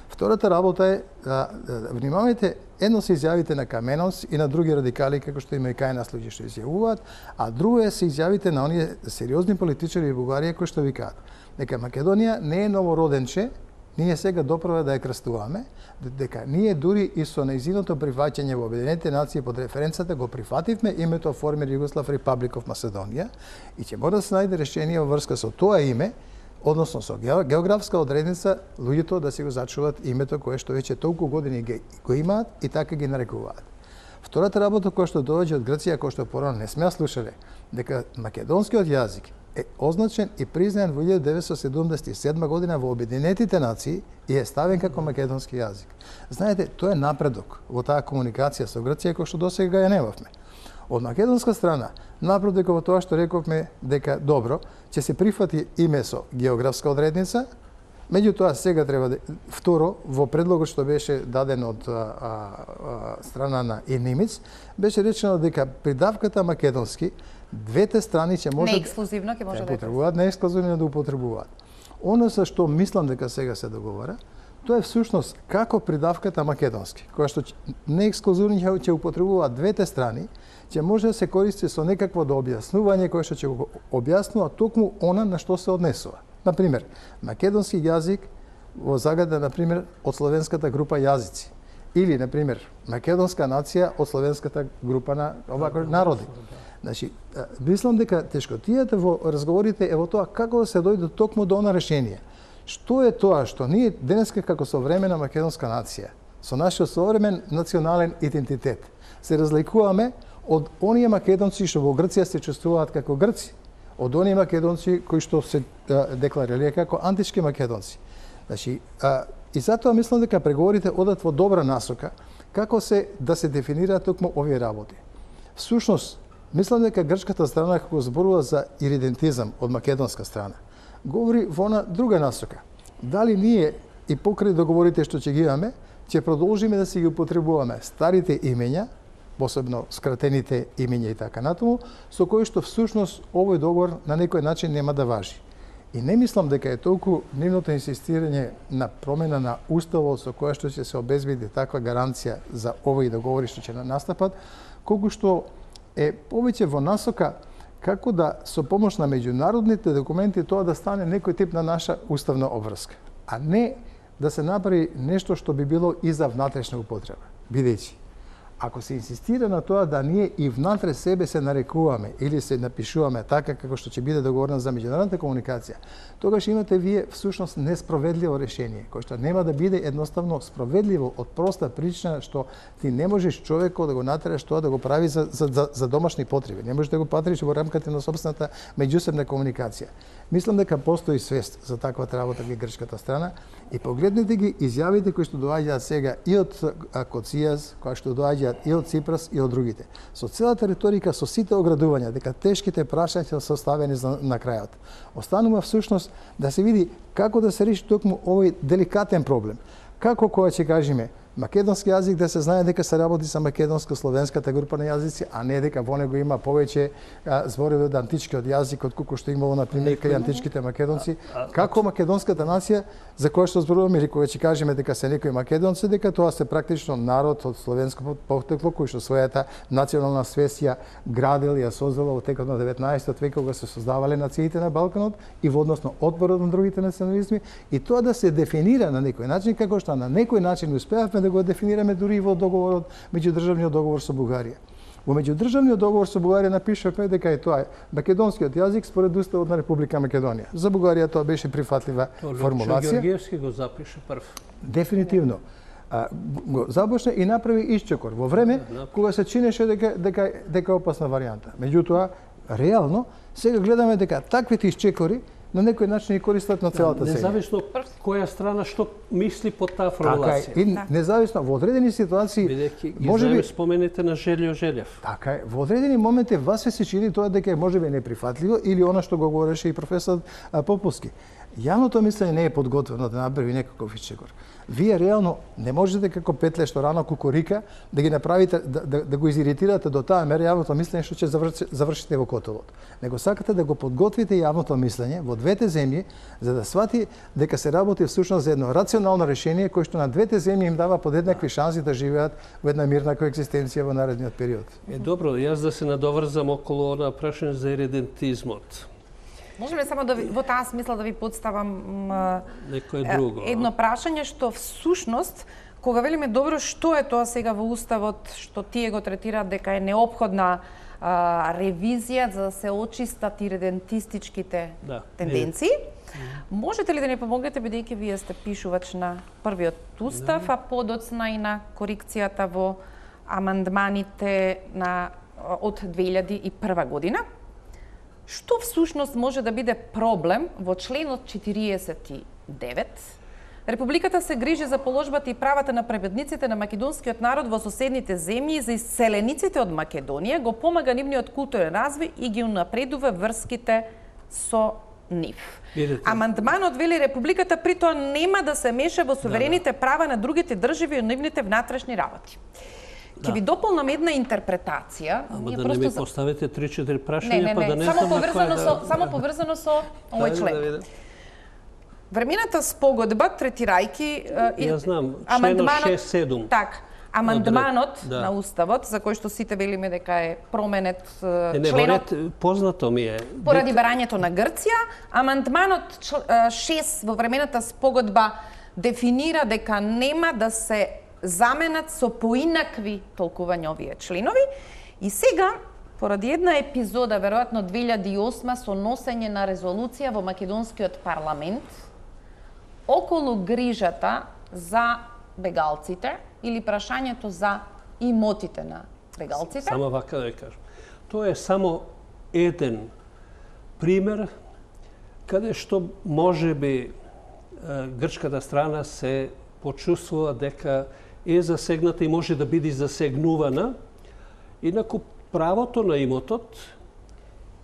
Втората работа е да, да, да внимавајте, едно се изјавите на Каменос и на други радикали како што има и кај нас луѓе што изјавуваат, а друго е се изјавите на оние сериозни политичари во Бугарија кои што викаат дека Македонија не е новороденче, ние сега доправа да ја крстуваме, дека ние дури и со нејзиното прифаќање во Обединетите нации под референцата го прифативме името Former Yugoslav Republic of Macedonia и ќе мора да се најде решение во врска со тоа име, односно со географска одредница, луѓето да си го зачуваат името кое што веќе толку години го имаат и така ги нарекуваат. Втората работа која што доаѓа од Грција, која што порано не сме слушале, дека македонскиот јазик е означен и признаен во илјада деветстотини седумдесет и седма година во Обединетите нации и е ставен како македонски јазик. Знаете, тоа е напредок во таа комуникација со Грција кој што досега ја немавме. Од македонска страна, напредок во тоа што рековме дека добро, ќе се прифати име со географска одредница, меѓутоа сега треба да... Второ, во предлогот што беше даден од а, а, страна на Енимиц, беше речено дека придавката македонски двете страни ќе може не ексклузивно ќе може да употребуваат, не ексклузивно да употребуваат. Оно со што мислам дека сега се договара, тоа е всушност како придавката македонски, која што не ексклузивно ќе употребуваат двете страни, ќе може да се користи со некакво до објаснување кое што ќе го објаснува токму она на што се однесува. Например, македонски јазик во загада, например, од словенската група јазици. Или, например, македонска нација од словенската група на овако народи. Значи, мислам дека тешкотијата во разговорите е во тоа како да се дојде токму до она решение. Што е тоа што ние денеска како современа македонска нација, со нашиот современ национален идентитет, се разликуваме од оние македонци што во Грција се чувствуваат како грци, од оние македонци кои што се декларирале како антички македонци. Значи, а, и затоа мислам дека преговорите одат во добра насока како се да се дефинираат токму овие работи. Всушност, мислам дека грчката страна како зборува за иридентизам од македонска страна, говори во она друга насока. Дали ние и покрај договорите што ќе ги имаме, ќе продолжиме да си ги употребуваме старите имења, посебно скратените имења и така натаму, со кои што всушност овој договор на некој начин нема да важи. И не мислам дека е толку нивното инсистирање на промена на уставот со која што ќе се обезбеди таква гаранција за овој договори што ќе настапат, колку што е повеќе во насока како да со помош на меѓународните документи тоа да стане некој тип на наша уставна обврска, а не да се направи нешто што би било и за внатрешна употреба. бидејќи ако се инсистира на тоа да ние и внатре себе се нарекуваме или се напишуваме така како што ќе биде договорено за меѓународната комуникација, тогаш имате вие всушност несправедливо решение, кој што нема да биде едноставно справедливо од проста причина што ти не можеш човекот да го натераш тоа да го прави за, за, за, за домашни потреби. Не можеш да го патриш во рамките на собствената меѓусебна комуникација. Мислам дека постои свест за таквата работа во грчката страна и погледнете ги изјавите кои што доаѓаат сега и од Коцијас, кои што доаѓаат и од Ципрас и од другите. Со целата риторика, со сите оградувања дека тешките прашања се составени на крајот. Останува всушност да се види како да се реши токму овој деликатен проблем. Како кога ќе кажеме македонски јазик да се знае дека се работи со македонско-словенската група на јазици, а не дека во него има повеќе зборови од античкиот јазик од колку што имало на пример кај античките македонци. Како македонската нација за која што зборуваме или кога ќе кажеме дека се некои македонци, дека тоа се практично народ од словенско потекло кој што својата национална свест ја градил и ја создала во текот на деветнаесеттиот век кога се создавале нациите на Балканот и во односно отпорот на другите национализми и тоа да се дефинира на некој начин како што на некој начин успеавме да го дефинираме дури и во договорот, меѓудржавниот договор со Бугарија. Во меѓудржавниот договор со Бугарија напишавме дека е тоа македонскиот јазик според уставот на Република Македонија. За Бугарија тоа беше прифатлива формулација. Георгиевски го запише прв. Дефинитивно. А, го започна и направи исчекор во време кога се чинеше дека дека дека опасна варијанта. Меѓутоа, реално сега гледаме дека таквите исчекори на некој начин и користат на целата сега. Независно која страна што мисли под таа формулација. Така е, и независно во одредени ситуации бидејќи ги знаеме спомените на Желјо Желев. Така е, во одредени моменти вас се чини тоа дека можеби неприфатливо или она што го говореше и професор Поповски. Јавното мислење не е подготвено да направи некаков исчекор. Вие реално не можете како петле што рано кукурика да ги направите да, да, да го изиритирате до таа мера јавното мислење што ќе завршите, завршите во котелот. Него сакате да го подготвите јавното мислење во двете земји за да свати дека се работи всушност за едно рационално решение кое што на двете земји им дава подеднакви шанси да живеат во една мирна коегзистенција во наредниот период. Е добро, јас да се надоврзам околу она прашање за иредентизмот. Можеме само да ви, во таа смисла да ви подставам некое друго. Едно прашање што всушност кога велиме добро што е тоа сега во уставот што тие го третираат дека е неопходна а, ревизија за да се очистат иредентистичките да, тенденции. Не. Можете ли да ни помогнете бидејќи вие сте пишувач на првиот устав, не. а подоцна и на корекцијата во амандманите на од две илјади и прва година? Што всушност може да биде проблем во членот четириесет и девет? Републиката се грижи за положбата и правата на пребедниците на македонскиот народ во соседните земји и за иселениците од Македонија, го помага нивниот културен развој и ги унапредува врските со нив. Видите. Амандманот вели Републиката при тоа нема да се меша во суверените да, да. права на другите држави и нивните внатрешни работи. Ќе ви дополнам една интерпретација. Ама да не ми поставите три-четири прашања, па да не само знам поврзано да... со само поврзано со овој член. Времената спогодба третирајќи ја знам, членот шест седум. Так, амандманот да. на уставот за кој што сите велиме дека е променет е, не, членот. Не, познато ми е. Поради барањето на Грција, амандманот шест во времената спогодба дефинира дека нема да се заменат со поинакви толкувања овие членови и сега поради една епизода веројатно две илјади и осма со носење на резолуција во македонскиот парламент околу грижата за бегалците или прашањето за имотите на бегалците. Само вака да кажам. Тоа е само еден пример каде што можеби грчката страна се почувствува дека е засегната и може да биде засегнувана. Инаку правото на имотот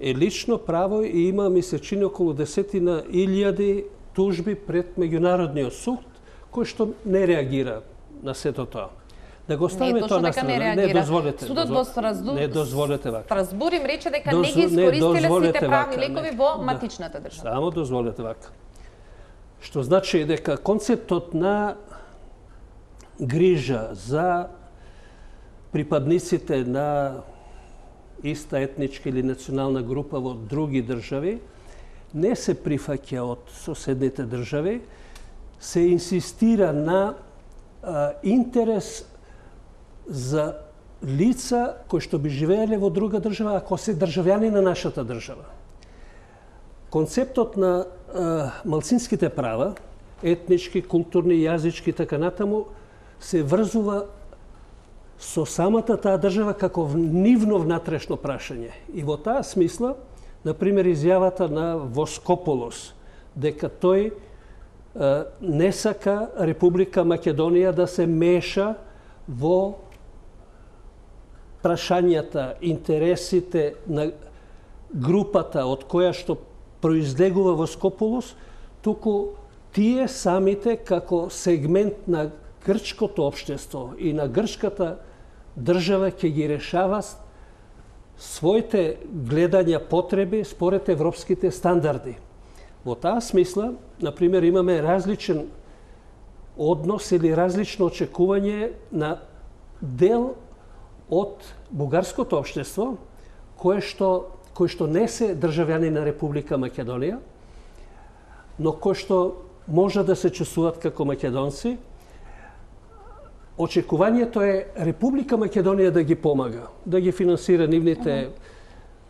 е лично право и има, ми се чини, околу десетина илјади тужби пред меѓународниот суд, кој што не реагира на сето тоа. Да го ставиме тоа на страна. Не дозволете. Судот во Страсбург, не дозволете вака. Страсбург им рече дека Доз... не ги искористиле сите правни лекови не. во матичната држава. Само дозволете вака. Што значи дека концептот на грижа за припадниците на иста етничка или национална група во други држави не се прифаќа од соседните држави, се инсистира на а, интерес за лица кои што би живееле во друга држава, ако се државјани на нашата држава. Концептот на а, малцинските права, етнички, културни, јазички и така натаму, се врзува со самата таа држава како нивно внатрешно прашање. И во таа смисла, например, изјавата на Воскополос, дека тој а, не сака Република Македонија да се меша во прашањата, интересите на групата од која што произлегува Воскополос, туку тие самите како сегмент на грчкото општество и на грчката држава ќе ги решава своите гледања потреби според европските стандарди. Во таа смисла, например, имаме различен однос или различно очекување на дел од бугарското општество, кое што, кои што не се државјани на Република Македонија, но кои што може да се чувствуваат како македонци. Очекувањето е Република Македонија да ги помага, да ги финансира нивните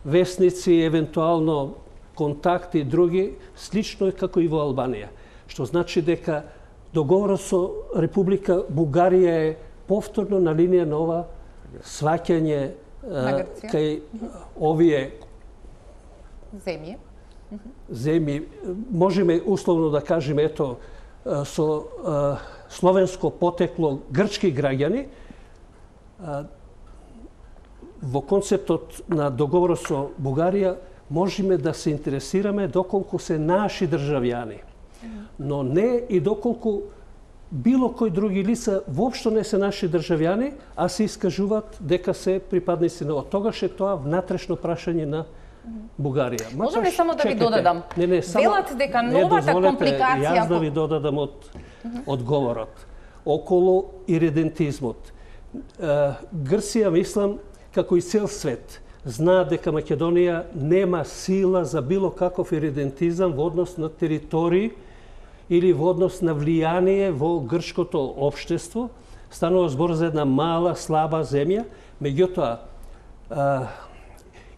весници, евентуално контакти и други, слично како и во Албанија. Што значи дека договорот со Република Бугарија е повторно на линија на ова сваќање кај овие земји. земји, можеме условно да кажеме, ето, со а, словенско потекло грчки граѓани, а, во концептот на договорот со Бугарија можеме да се интересираме доколку се наши државјани, но не и доколку било кои други лица воопшто не се наши државјани, а се искажуваат дека се припадници на тогаш е тоа внатрешно прашање на Бугарија. Можам ли само да ви додадам? Не, не, само, Велат дека новата компликација... Јас да ви додадам од одговорот. Околу иридентизмот. Грција, мислам, како и цел свет, знаа дека Македонија нема сила за било каков иридентизам во однос на територии или во однос на влијание во грчкото општество. Станува збор за една мала, слаба земја, меѓутоа,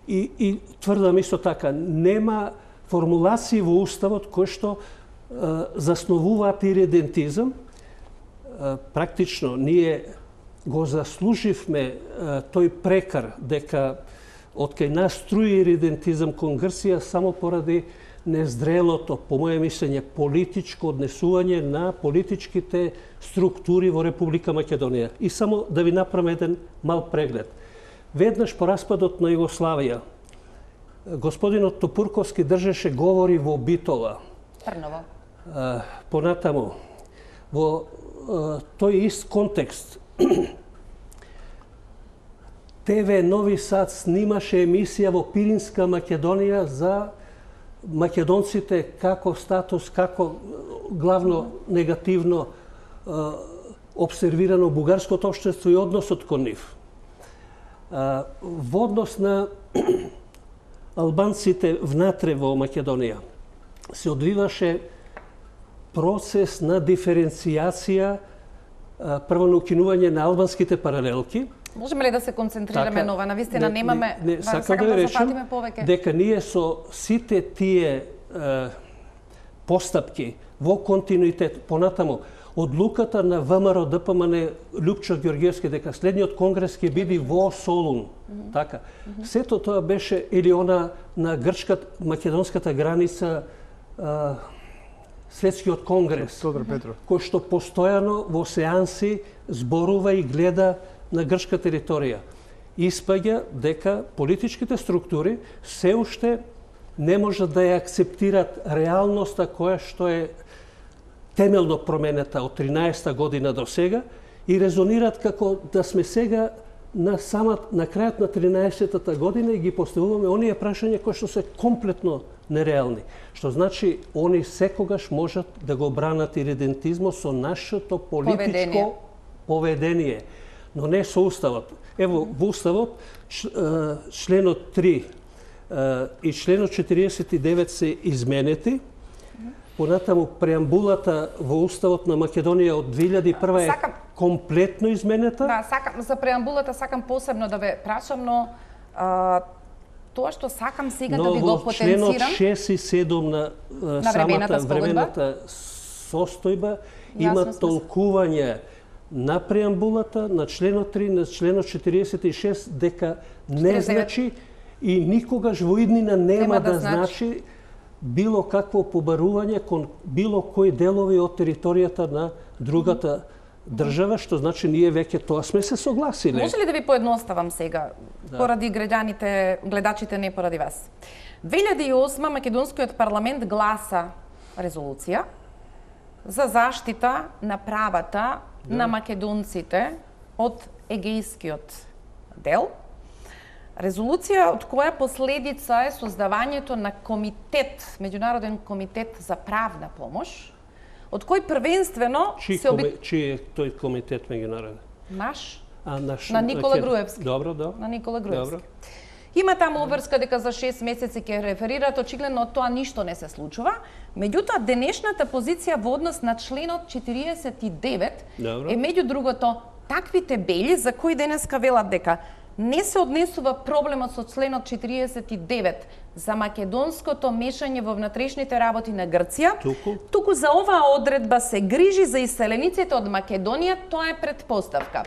И, и тврдам исто така, нема формулации во Уставот кои што е, засновуваат иридентизам. Е, практично, ние го заслуживме е, тој прекар дека од кај нас струи иридентизам кон Грција само поради незрелото, по моје мислење, политичко однесување на политичките структури во Република Македонија. И само да ви направам еден мал преглед. Веднаш по распадот на Југославија, господинот Топурковски држеше говори во Битола. Трново. Понатаму, во тој ист контекст, ТВ Нови Сад снимаше емисија во Пиринска Македонија за македонците како статус, како главно негативно обсервирано бугарското општество и односот кон нив. Во однос на албанците внатре во Македонија се одвиваше процес на диференцијација, прво на укинување на албанските паралелки. Можеме ли да се концентрираме така, на ова? Навистина не, немаме, не, не, сакам, сакам да да речем дека ние со сите тие е, постапки во континуитет, понатаму, одлуката на ВМРО Д П М Н Лјупчо Ѓорѓевски дека следниот конгрес ќе биде во Солун. Mm -hmm. Така. Mm -hmm. Сето тоа беше или она на грчката македонската граница а, светскиот конгрес, Тодор Петров, кој што постојано во сеанси зборува и гледа на грчка територија. Испаѓа дека политичките структури се уште не можат да ја акцептират реалноста која што е темелно променета од тринаесетта година до сега и резонираат како да сме сега на самат на крајот на тринаесеттата година и ги поставуваме оние прашања кои што се комплетно нереални. Што значи они секогаш можат да го бранат иридентизмот со нашето политичко поведение, поведение но не со уставот. Ево во уставот членот три и членот четириесет и девет се изменети. Понатаму преамбулата во уставот на Македонија од две илјади и прва е Сакам, комплетно изменета. Да, сакам за преамбулата сакам посебно да ве прашам, но а, тоа што сакам сега да ви го потенцирам. Но во членот шест и седум на, на самата времената состојба има толкување на преамбулата, на членот три, на членот четириесет и шест, дека не значи и никогаш во иднина нема, нема да, да значи било какво побарување кон било кои делови од територијата на другата држава, што значи ние веќе тоа сме се согласиле. Може ли да ви поедноставам сега, да. Поради граѓаните, гледачите, не поради вас. две илјади и осма македонскиот парламент гласа резолуција за заштита на правата да. на македонците од егејскиот дел. Резолуција од која последица е создавањето на комитет, меѓународен комитет за правна помош, од кој првенствено Чи, се оби... Чи е тој комитет меѓународен? Наш? А, наш... На Никола Груевски. Добро, да. На Никола Груевски. Добро. Има таму обврска дека за шест месеци ќе реферираат, очигледно од тоа ништо не се случува. Меѓутоа, денешната позиција во однос на членот четириесет и девет Добро. Е меѓу другото таквите бели за кои денеска велат дека не се однесува проблемот со членот четириесет и девет за македонското мешање во внатрешните работи на Грција, туку, туку за оваа одредба се грижи за иселениците од Македонија, тоа е предпоставка.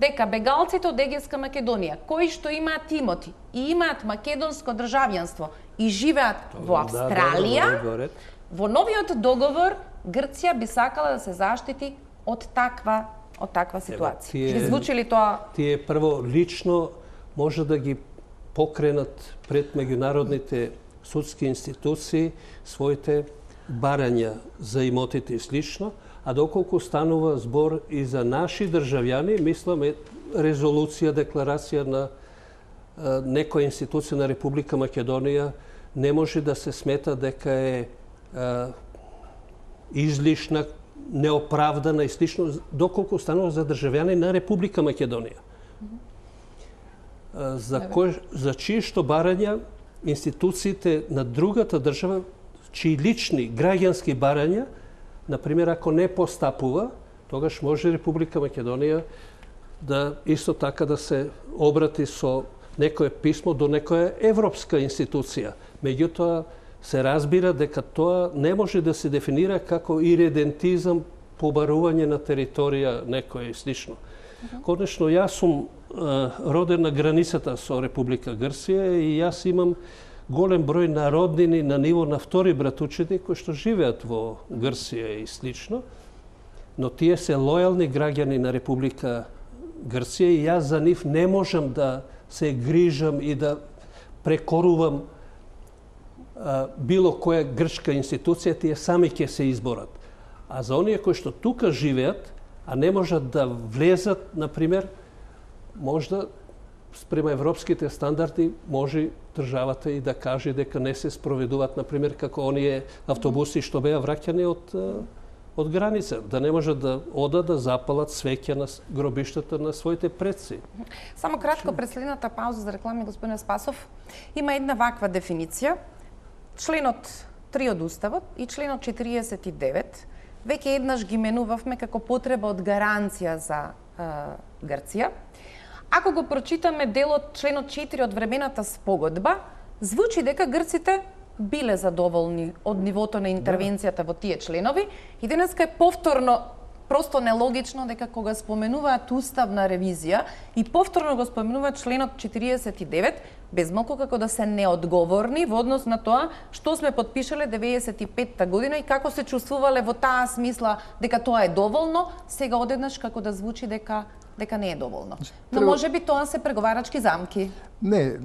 Дека бегалците од Егејска Македонија, кои што имаат имоти и имаат македонско државјанство и живеат во Австралија, да, да, да, во новиот договор Грција би сакала да се заштити од таква од таква ситуација. Тие, ги звучи ли тоа? Тие прво лично може да ги покренат пред меѓународните судски институции своите барања за имотите и слично, а доколку станува збор и за наши државјани, мислам е резолуција, декларација на а, некоја институција на Република Македонија не може да се смета дека е а, излишна, неоправдана и слично, доколку станува за државјани на Република Македонија. Mm-hmm. За, кој, за чие што барања институциите на другата држава, чии лични граѓански барања, например, ако не постапува, тогаш може Република Македонија да исто така да се обрати со некое писмо до некоја европска институција. Меѓутоа, се разбира дека тоа не може да се дефинира како иредентизам, побарување на територија некоја и слично. Uh-huh. Конечно, јас сум е, роден на границата со Република Грција и јас имам голем број народнини на ниво на втори братучеди кои што живеат во Грција и слично, но тие се лојални граѓани на Република Грција и јас за нив не можам да се грижам и да прекорувам било која грчка институција, тие сами ќе се изборат. А за оние кои што тука живеат, а не можат да влезат, например, можда спрема европските стандарди, може државата и да каже дека не се спроведуваат, например, како оние автобуси што беа враќани од, од граница, да не можат да одат да запалат свеќа на гробиштата на своите предци. Само кратко пред следната пауза за реклами, господин Спасов, има една ваква дефиниција. Членот три од Уставот и членот четириесет и девет веќе еднаш ги менувавме како потреба од гаранција за е, Грција. Ако го прочитаме делот членот четири од времената спогодба, звучи дека грците биле задоволни од нивото на интервенцијата во тие членови и денеска е повторно просто нелогично дека кога споменуваат уставна ревизија и повторно го споменуваат членот четириесет и девет, безмалку како да се неодговорни во однос на тоа што сме подпишале деветдесет и петта година и како се чувствувале во таа смисла дека тоа е доволно, сега одеднаш како да звучи дека дека не е доволно. Но треба... може би тоа се преговарачки замки. Не,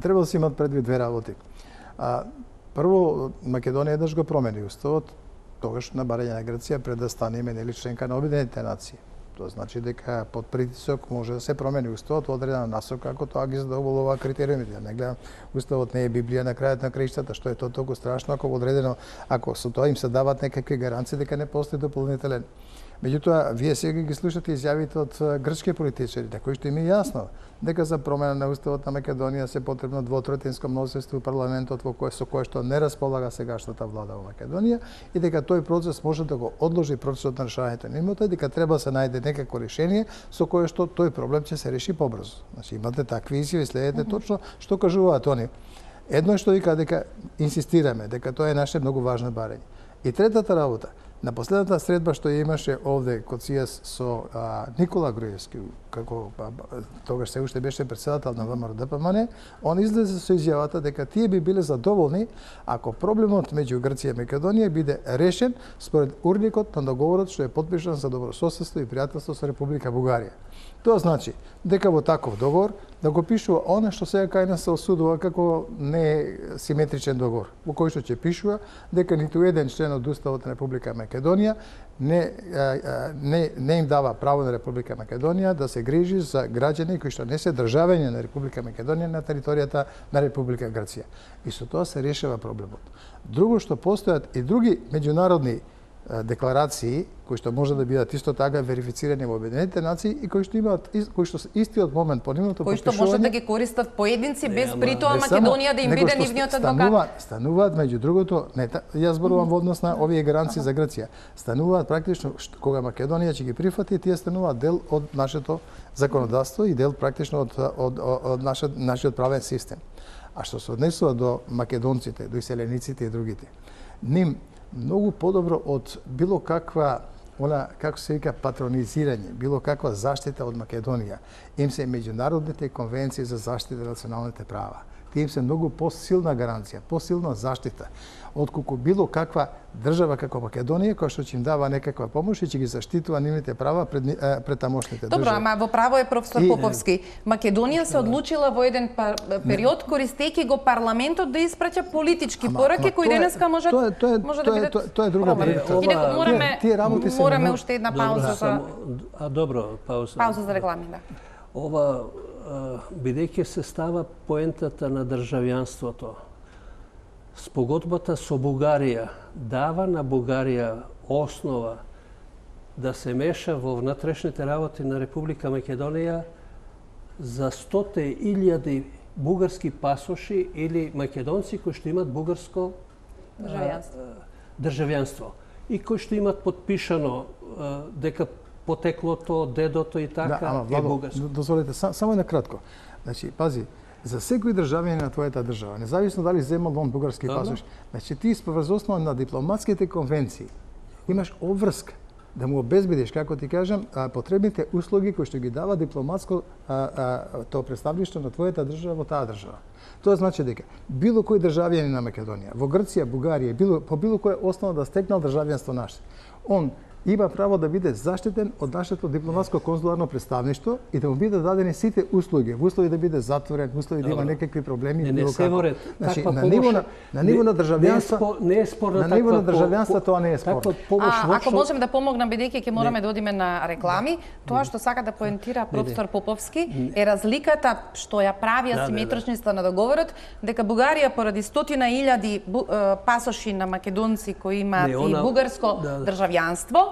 треба да се имат предвид две работи. А, прво, Македонија еднаш го промени уставот, тогаш на барање на Грција пред да стане нели членка на Обединетите нации. Тоа значи дека под притисок може да се промени уставот во одредена насока ако тоа ги задоволува критериумите. Не гледам, уставот не е Библија на крајот на краиштата, што е тоа толку страшно ако одредено, ако со тоа им се дават некакви гаранции дека не постои дополнителен Меѓутоа, вие сега ги слушате изјавите од грчки политичари, кои што им е јасно дека за промена на уставот на Македонија се потребно двотретинско мнозинство во парламентот во кое со кое што не располага сегашната влада во Македонија и дека тој процес може да го одложи процесот на решавањето на имота, дека треба да се најде некакво решение со кое што тој проблем ќе се реши побрзо. Значи имате такви изјави, следете mm-hmm. точно што кажуваат они. Едно е што вика дека инсистираме дека тоа е наше многу важно барање. И третата работа, на последната средба што ја имаше овде код СИЕС со а, Никола Груевски, како а, тогаш се уште беше председател на ВМРО-ДПМН, он излезе со изјавата дека тие би биле задоволни ако проблемот меѓу Грција и Македонија биде решен според урникот на договорот што е подпишан за добрососедство и пријателство со Република Бугарија. Тоа значи дека во таков договор да го пишува оно што сега кај нас се осудува како не симетричен договор, во кој што ќе пишува дека ниту еден член од Уставот на Република Македонија не, не, не им дава право на Република Македонија да се грижи за граѓани кои што не се државјани на Република Македонија на територијата на Република Грција. И со тоа се решава проблемот. Друго што постојат и други меѓународни декларации кои што може да бидат исто така верифицирани во Обединетите нации и кои што имаат кои што се истиот момент по нивното потпишување, кои што може да ги користат поединци без притоа Македонија да им биде нивниот адвокат. Стануваат меѓу другото, не, јас зборувам во однос на овие гаранции за Грција. Стануваат практично кога Македонија ќе ги прифати, тие стануваат дел од нашето законодавство и дел практично од од, од, од нашиот нашиот правен систем. А што се однесува до македонците, до иселениците и другите, ним многу подобро од било каква, она, како се вика, патронизирање, било каква заштита од Македонија, им се меѓународните конвенции за заштита на националните права. Тие им се многу посилна гаранција, посилна заштита, отколку било каква држава како Македонија, која што ќе им дава некаква помош и ќе ги заштитува нивните права пред, пред тамошните држави. Добро, ама во право е професор и... Поповски. Македонија се одлучила во еден пар... период, користејќи го парламентот да испраќа политички ама, пораки, кои денеска можат тоа, тоа, може тоа, да бидат тоа, тоа е друга проблем. И дека мораме, тие, тие мораме уште една пауза за... А добро, пауза. Пауза за реклами, да. Ова, бидејќи се става поентата на државјанството, спогодбата со Бугарија дава на Бугарија основа да се меша во внатрешните работи на Република Македонија за стоте илјади бугарски пасоши или македонци кои што имат бугарско државјанство, државјанство и кои што имат подпишано дека потеклото, дедото и така да, ама, е бугарско. Дозволете, само на кратко. Значи, пази, за секој државјанин на твојата држава, независно дали земал он бугарски да, пасош, значи ти врз основа на дипломатските конвенции имаш обврска да му обезбедиш, како ти кажам, потребните услуги кои што ги дава дипломатско тоа представништво на твојата држава во таа држава. Тоа значи дека било кој државјанин на Македонија, во Грција, Бугарија, било, по било која основа да стекнал државјанство наше, он има право да биде заштитен од нашето дипломатско конзуларно представништво и да му бидат дадени сите услуги, во услови да биде затворен, во услови да има некакви проблеми, не, не, било како. Значи, на ниво на, на ниво на државјанство, не е спорно на ниво на државјанство тоа не е спорно. А, ако можем да помогнам, бидејќи ќе мораме да одиме на реклами, тоа што сака да поентира професор Поповски е разликата што ја прави асиметричноста на договорот, дека Бугарија поради стотина илјади пасоши на македонци кои имаат и бугарско државјанство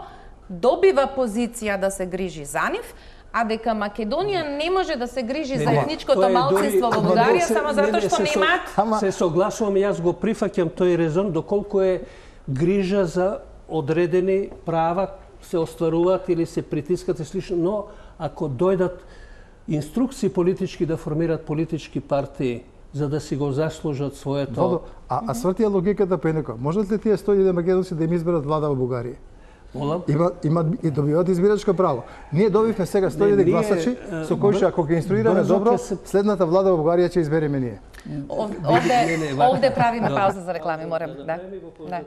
добива позиција да се грижи за нив, а дека Македонија не може да се грижи не, за етничкото малцинство во Бугарија само затоа што не имаат. Се согласувам, јас го прифаќам тој резон доколку е грижа за одредени права се остваруваат или се притискат и слично, но ако дојдат инструкции политички да формираат политички партии за да си го заслужат своето... Водо, а, а свртија логиката пенеко. Можат ли тие сто илјади македонци да им изберат влада во Бугарија? Има, има и добиваат избирачко право. Ние добивме сега сто илјади гласачи, со кои што ако ги инструираме добро, следната влада во Бугарија ќе избереме ние. Овде, овде правиме пауза за реклами, морам, да. да.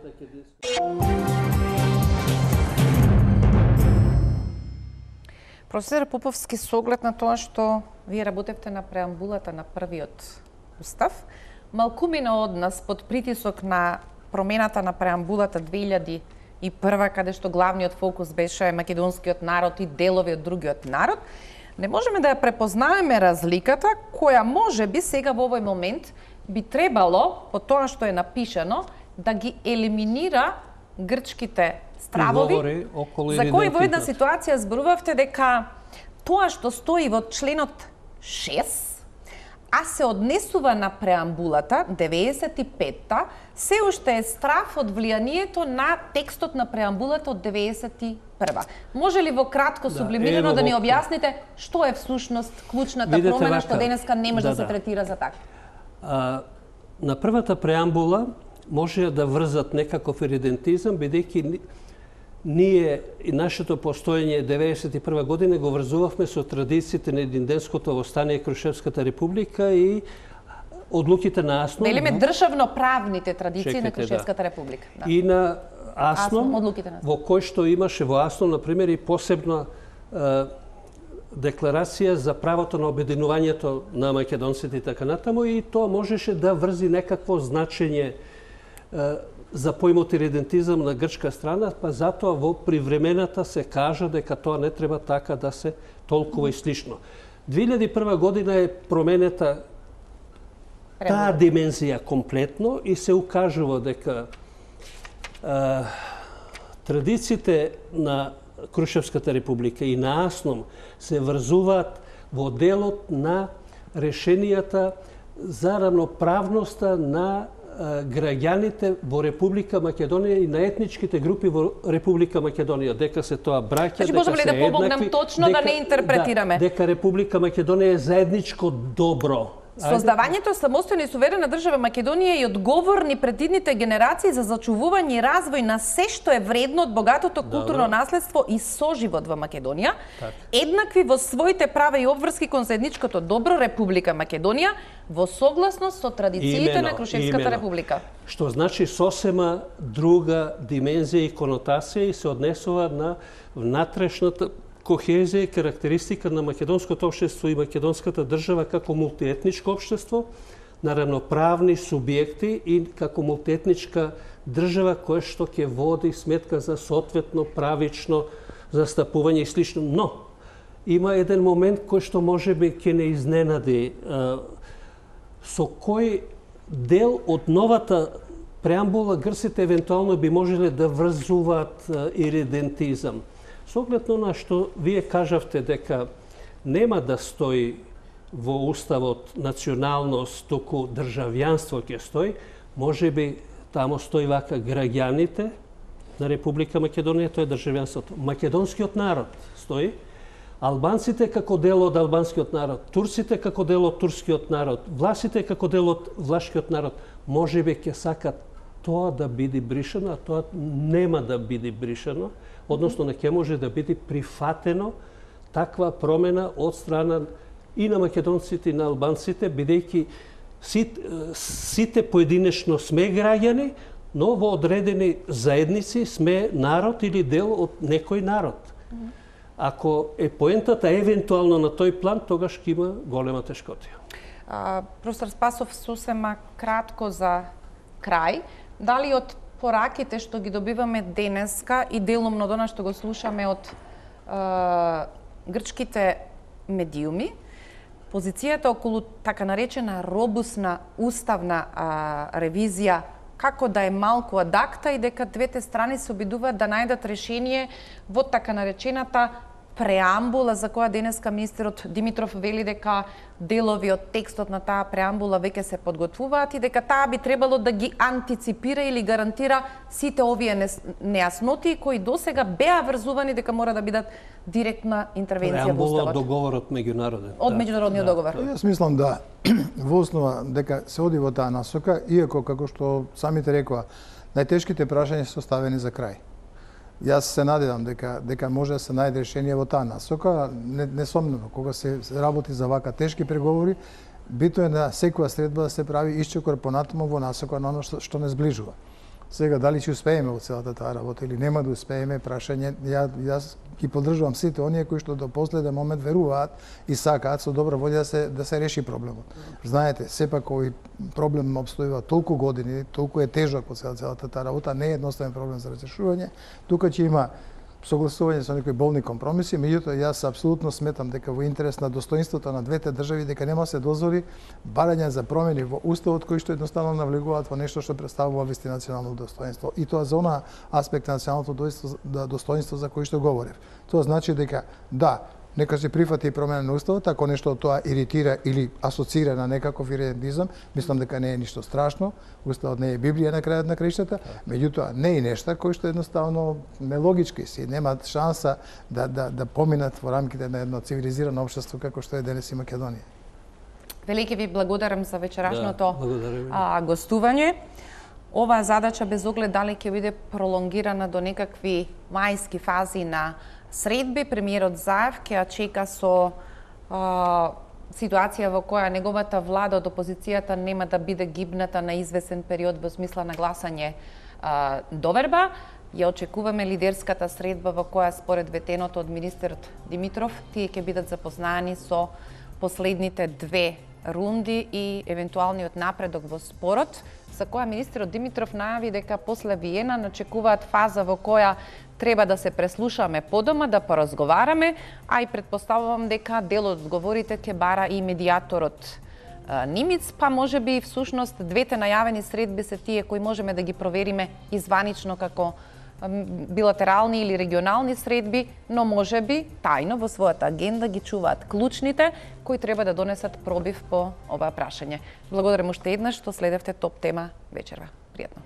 Професор Поповски, со оглед на тоа што вие работевте на преамбулата на првиот устав, малкумина од нас под притисок на промената на преамбулата две илјади и прва, каде што главниот фокус беше македонскиот народ и делови од другиот народ, не можеме да ја препознаеме разликата која може би сега во овој момент би требало, по тоа што е напишано, да ги елиминира грчките стравови, за кои во една ситуација зборувавте дека тоа што стои во членот шест, а се однесува на преамбулата, деветдесет и петта, се уште е страв од влијанието на текстот на преамбулата од деветдесет и прва. Може ли во кратко, сублимирано, да, да ни објасните што е всушност клучната Видете промена, вака, што денеска не може да, да се третира за така? А, на првата преамбула може да врзат некаков иридентизам, бидејќи ние и нашето постоење деветдесет и прва година го врзувавме со традициите на единденското востание Крушевската република и одлуките на АСНОМ. Велиме државно-правните традиции Чекайте, на Крушевската да. република. Да. И на АСНОМ, АСНОМ во кој што имаше во АСНОМ, например, и посебна е, декларација за правото на обединувањето на македонците и така натаму, и тоа можеше да врзи некакво значење е, за поимот иридентизам на грчка страна, па затоа во привремената се кажа дека тоа не треба така да се толкува и слично. две илјади и прва година е променета таа димензија комплетно и се укажува дека а, традициите на Крушевската република и на АСНОМ се врзуваат во делот на решенијата за равноправноста на граѓаните во Република Македонија и на етничките групи во Република Македонија, дека се тоа браќа, дека се да помогнам точно дека, да не интерпретираме. Да, дека Република Македонија е заедничко добро. Создавањето самостојна и суверена држава Македонија е одговорни пред идните генерации за зачувување и развој на се што е вредно од богатото културно Добро. наследство и соживот во Македонија, так. еднакви во своите права и обврски кон заедничкото добро Република Македонија, во согласност со традициите имено, на Крушевската имено. република. Што значи сосема друга димензија и конотација и се однесува на внатрешната кохезија и карактеристика на македонското општество и македонската држава како мултиетничко општество, на равноправни субјекти и како мултиетничка држава која што ќе води сметка за соодветно правично застапување и слично. Но има еден момент кој што можеби ќе не изненади, со кој дел од новата преамбула грците евентуално би можеле да врзуваат иридентизам. Со оглед на што вие кажавте дека нема да стои во уставот националност, туку државјанство ќе стои, можеби тамо стои вака граѓаните на Република Македонија, тоа е државјанството. Македонскиот народ стои, албанците како дел од албанскиот народ, турците како дел од турскиот народ, власите како дел од влашкиот народ, можеби ќе сакат тоа да биде бришено, а тоа нема да биде бришено, односно не ќе може да биде прифатено таква промена од страна и на македонците и на албанците, бидејќи сите, сите поединечно сме граѓани, но во одредени заедници сме народ или дел од некој народ. Ако е поентата евентуално на тој план, тогаш ќе има голема тешкотија. Професор Спасов, сосема кратко за крај, дали од пораките што ги добиваме денеска и делумно до нас што го слушаме од е, грчките медиуми, позицијата околу така наречена робусна уставна а, ревизија како да е малку ад акта и дека двете страни се обидуваат да најдат решение во така наречената преамбула за која денеска министерот Димитров вели дека делови од текстот на таа преамбула веќе се подготвуваат и дека таа би требало да ги антиципира или гарантира сите овие нејасноти кои досега беа врзувани дека мора да бидат директна интервенција во уставот. Преамбула од договорот меѓународен. Од меѓународниот да. договор. Јас мислам да во основа дека се оди во таа насока, иако како што самите рекоа, најтешките прашања се оставени за крај. Јас се надевам дека дека може да се најде решение во таа насока. Не, несомнено, кога се работи за вака тешки преговори, бито е на секоја средба да се прави исчекор понатаму во насока на оно што, што не зближува. Сега, дали ќе успееме во целата таа работа или нема да успееме, прашање, ја, јас ги поддржувам сите оние кои што до последен момент веруваат и сакаат со добра волја да се, да се реши проблемот. Знаете, сепак овој проблем обстојува толку години, толку е тежок во целата таа работа, не е едноставен проблем за разрешување. Тука ќе има согласување со некои болни компромиси, меѓутоа јас апсолутно сметам дека во интерес на достоинството на двете држави дека нема се дозволи барање за промени во уставот кои што едноставно навлегуваат во нешто што представува вести национално достоинство. И тоа за она аспект на националното достоинство за кој што говорев. Тоа значи дека да, нека се прифати и промена на уставот, ако нешто од тоа иритира или асоцира на некаков иридентизам, мислам дека не е ништо страшно. Уставот не е Библија на крајот на краиштата, меѓутоа не е нешта кои што едноставно нелогички си, немаат шанса да да да поминат во рамките на едно цивилизирано општество како што е денес и Македонија. Велики ви благодарам за вечерашното да, а, гостување. Оваа задача без оглед дали ќе биде пролонгирана до некакви мајски фази на средби, премиерот Заев ќе ја чека со а, ситуација во која неговата влада од опозицијата нема да биде гибната на извесен период во смисла на гласање а, доверба. Ја очекуваме лидерската средба во која според ветеното од министерот Димитров тие ќе бидат запознаени со последните две рунди и евентуалниот напредок во спорот, за која министерот Димитров најави дека после Виена начекуваат фаза во која треба да се преслушаме подома, да поразговараме, а и предпоставувам дека дел од одговорите ќе бара и медијаторот Нимиц, па може би всушност двете најавени средби се тие кои можеме да ги провериме изванично како билатерални или регионални средби, но може би тајно во својата агенда ги чуваат клучните кои треба да донесат пробив по ова прашање. Благодарам уште еднаш што следевте Топ тема вечерва. Пријатно.